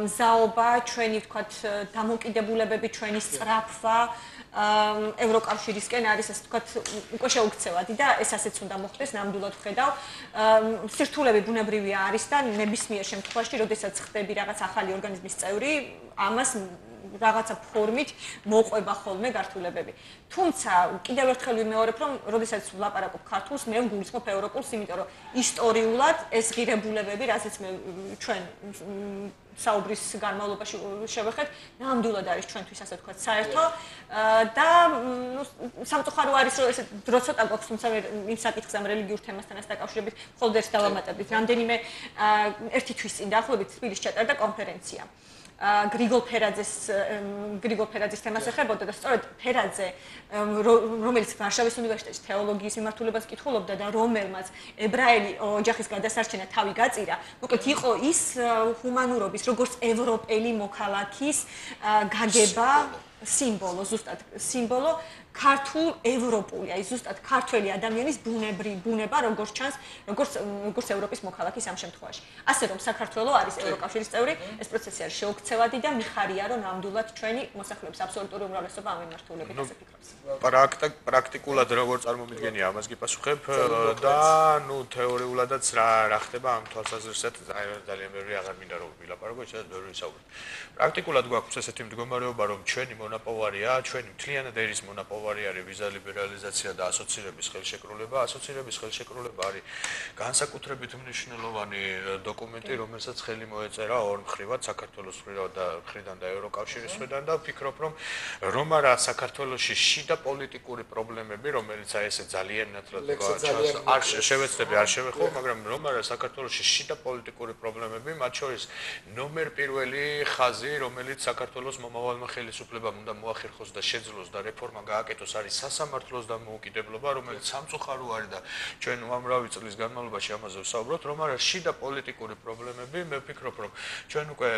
მზაობა, ჩვენი ვთქვათ დამოკიდებულებები, ჩვენი სწრაფვა ევროკავშირისკენ არის ასე ვთქვათ უკვე შეუქცევადი და ეს ასეც უნდა მოხდეს, ნამდვილად ვხედავ. სირთულები ბუნებრივია არის და ნებისმიერ შემთხვევაში, როდესაც ხდები რაღაც ახალი ორგანიზმის წევრი, ამას რაღაცა ფორმით მოყვება ხოლმე გართულებები. თუმცა კიდევ ერთხელ ვიმეორებ, რომ როდესაც ვლაპარაკობ ქართულს, მე ვგულისხმობ ევროპულს, იმიტომ რომ ისტორიულად ეს ღირებულებები, რასაც მე ჩვენ საუბრის განმავლობაში შევეხეთ, ნამდვილად არის ჩვენთვის ასე ვთქვათ საერთო და სამწუხარო არის რომ ესე დრო ცოტა გვაქვს, თუმცა იმ საკითხს ამ რელიგიურ თემასთან დაკავშირებით მხოლოდ ერთ დავამატებდით. რამდენიმე ერთი თვის წინ დაახლოებით თბილისში ჩატარდა კონფერენცია. გრიგოლ ფერაძის თემას ეხებოდა და სწორედ ფერაძე, რომელიც ვარშავის უნივერსიტეტის თეოლოგიის მიმართულებას კითხულობდა და რომელმაც ებრაელი ოჯახის გადასარჩენა თავი გაწირა, მოკლედ იყო ის ჰუმანურობის, როგორც ევროპელი მოქალაქის გაგება სიმბოლო, ზუსტად სიმბოლო ქართულ ევროპული, აი ზუსტად ქართველი ადამიანის ბუნება, როგორც ჩანს, როგორც ევროპის მოქალაქის ამ შემთხვევაში. ასე რომ საქართველო არის ევროკავშირის წევრი, ეს პროცესი არის შეუქცევადი და მიხარია, რომ ნამდვილად ჩვენი მოსახლეობის აბსოლუტური უმრავლესობა ამ მიმართულებით ასე ფიქრობს. პრაქტიკულად როგორ წარმომიდგენია ამას გიპასუხებ და თეორიულადაც რა ხდება ამ თვალსაზრისით ძალიან ბევრი აღარ მინდა რომ ვილაპარაკო, ისედაც ბევრი ვისაუბრებ. პრაქტიკულად გვაქვს ესეთი მდგომარეობა, რომ ჩვენი მონაპოვარია, ჩვენი მთლიანად ერის მონაპოვარია არის ვიზა ლიბერალიზაცია და ასოცირების ხელშეკრულება. ასოცირების ხელშეკრულება არის განსაკუთრებით მნიშვნელოვანი დოკუმენტი, რომელსაც ხელი მოეწერა ორ მხრივად, საქართველოს მხრიდან და ევროკავშირის მხრიდან და ვფიქრობ, რომ არა საქართველოში შიდა პოლიტიკური პრობლემები, რომელიც აი ესე ძალიან ნათლად არ შევეცდები, არ შევეხო, მაგრამ რომ არა საქართველოში შიდა პოლიტიკური პრობლემები, მათ შორის ნომერ პირველი ხაზი, რომელიც საქართველოს მომავალმა ხელისუფლებამ უნდა მოახერხოს და შეძლოს და რეფორმა გააკეთოს, არის სასამართლოს დამოუკიდებლობა, რომელიც სამწუხარო არის და ჩვენ უამრავი წლის განმავლობაში ამაზე ვსაუბრობთ, რომ არა შიდა პოლიტიკური პრობლემები, მე ვფიქრობ, რომ ჩვენ უკვე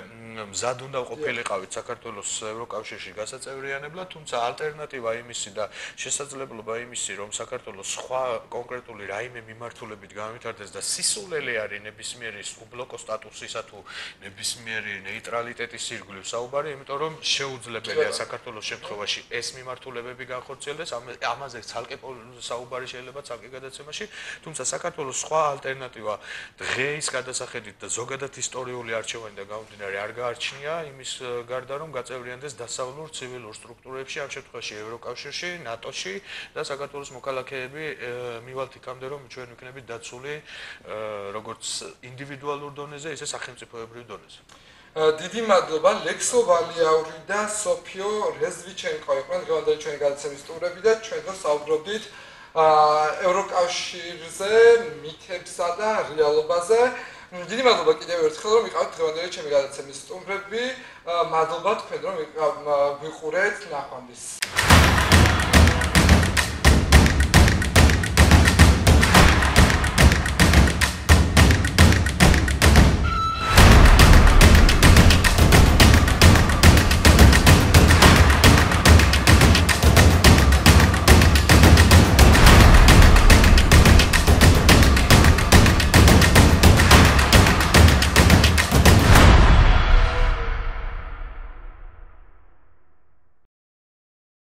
მზად უნდა ყოფილიყავით საქართველოს ევროკავშირში გასაწევრიანებლად, თუმცა ალტერნატივა იმისი და შესაძლებლობა იმისი, რომ საქართველოს სხვა კონკრეტული რაიმე მიმართულებით განვითარდეს და სისულელე არის ნებისმიერი უბლოკო სტატუსისა თუ ნებისმიერი ნეიტრალიტეტის ირგვლივ საუბარი, იმიტომ რომ შეუძლებელია საქართველოს შემთხვევაში ეს მიმართულებები განხორციელდეს, ამაზე ცალკე საუბარი შეიძლება ცალკე გადაცემაში, თუმცა საქართველოს სხვა ალტერნატივა დღეის გადასახედით და ზოგადად ისტორიული არჩევანი და გამომდინარე არ გაარჩნია იმის გარდა, რომ გაწევრიანდეს დასავლურ ცივილურ სტრუქტურებში, ამ შემთხვევაში ევროკავშირში, ნატოში და საქართველოს მოქალაქეები მივალთ იქამდე, რომ ჩვენ ვიქნებით დაცული როგორც ინდივიდუალურ დონეზე, ისე სახელმწიფოებრივ დონეზე. დიდი მადლობა ლექსო ვალიაური და სოფიო რეზვიჩენკო იყვნენ დღევანდელი ჩვენი გადაცემის სტუმრები და ჩვენ დღეს საუბრობდით ევროკავშირზე, მითებსა და რეალობაზე. დიდი მადლობა კიდევ ერთხელ რომ იყავით დღევანდელი ჩემი გადაცემის სტუმრები. მადლობა თქვენ რომ ვიყურეთ ნახვამდის.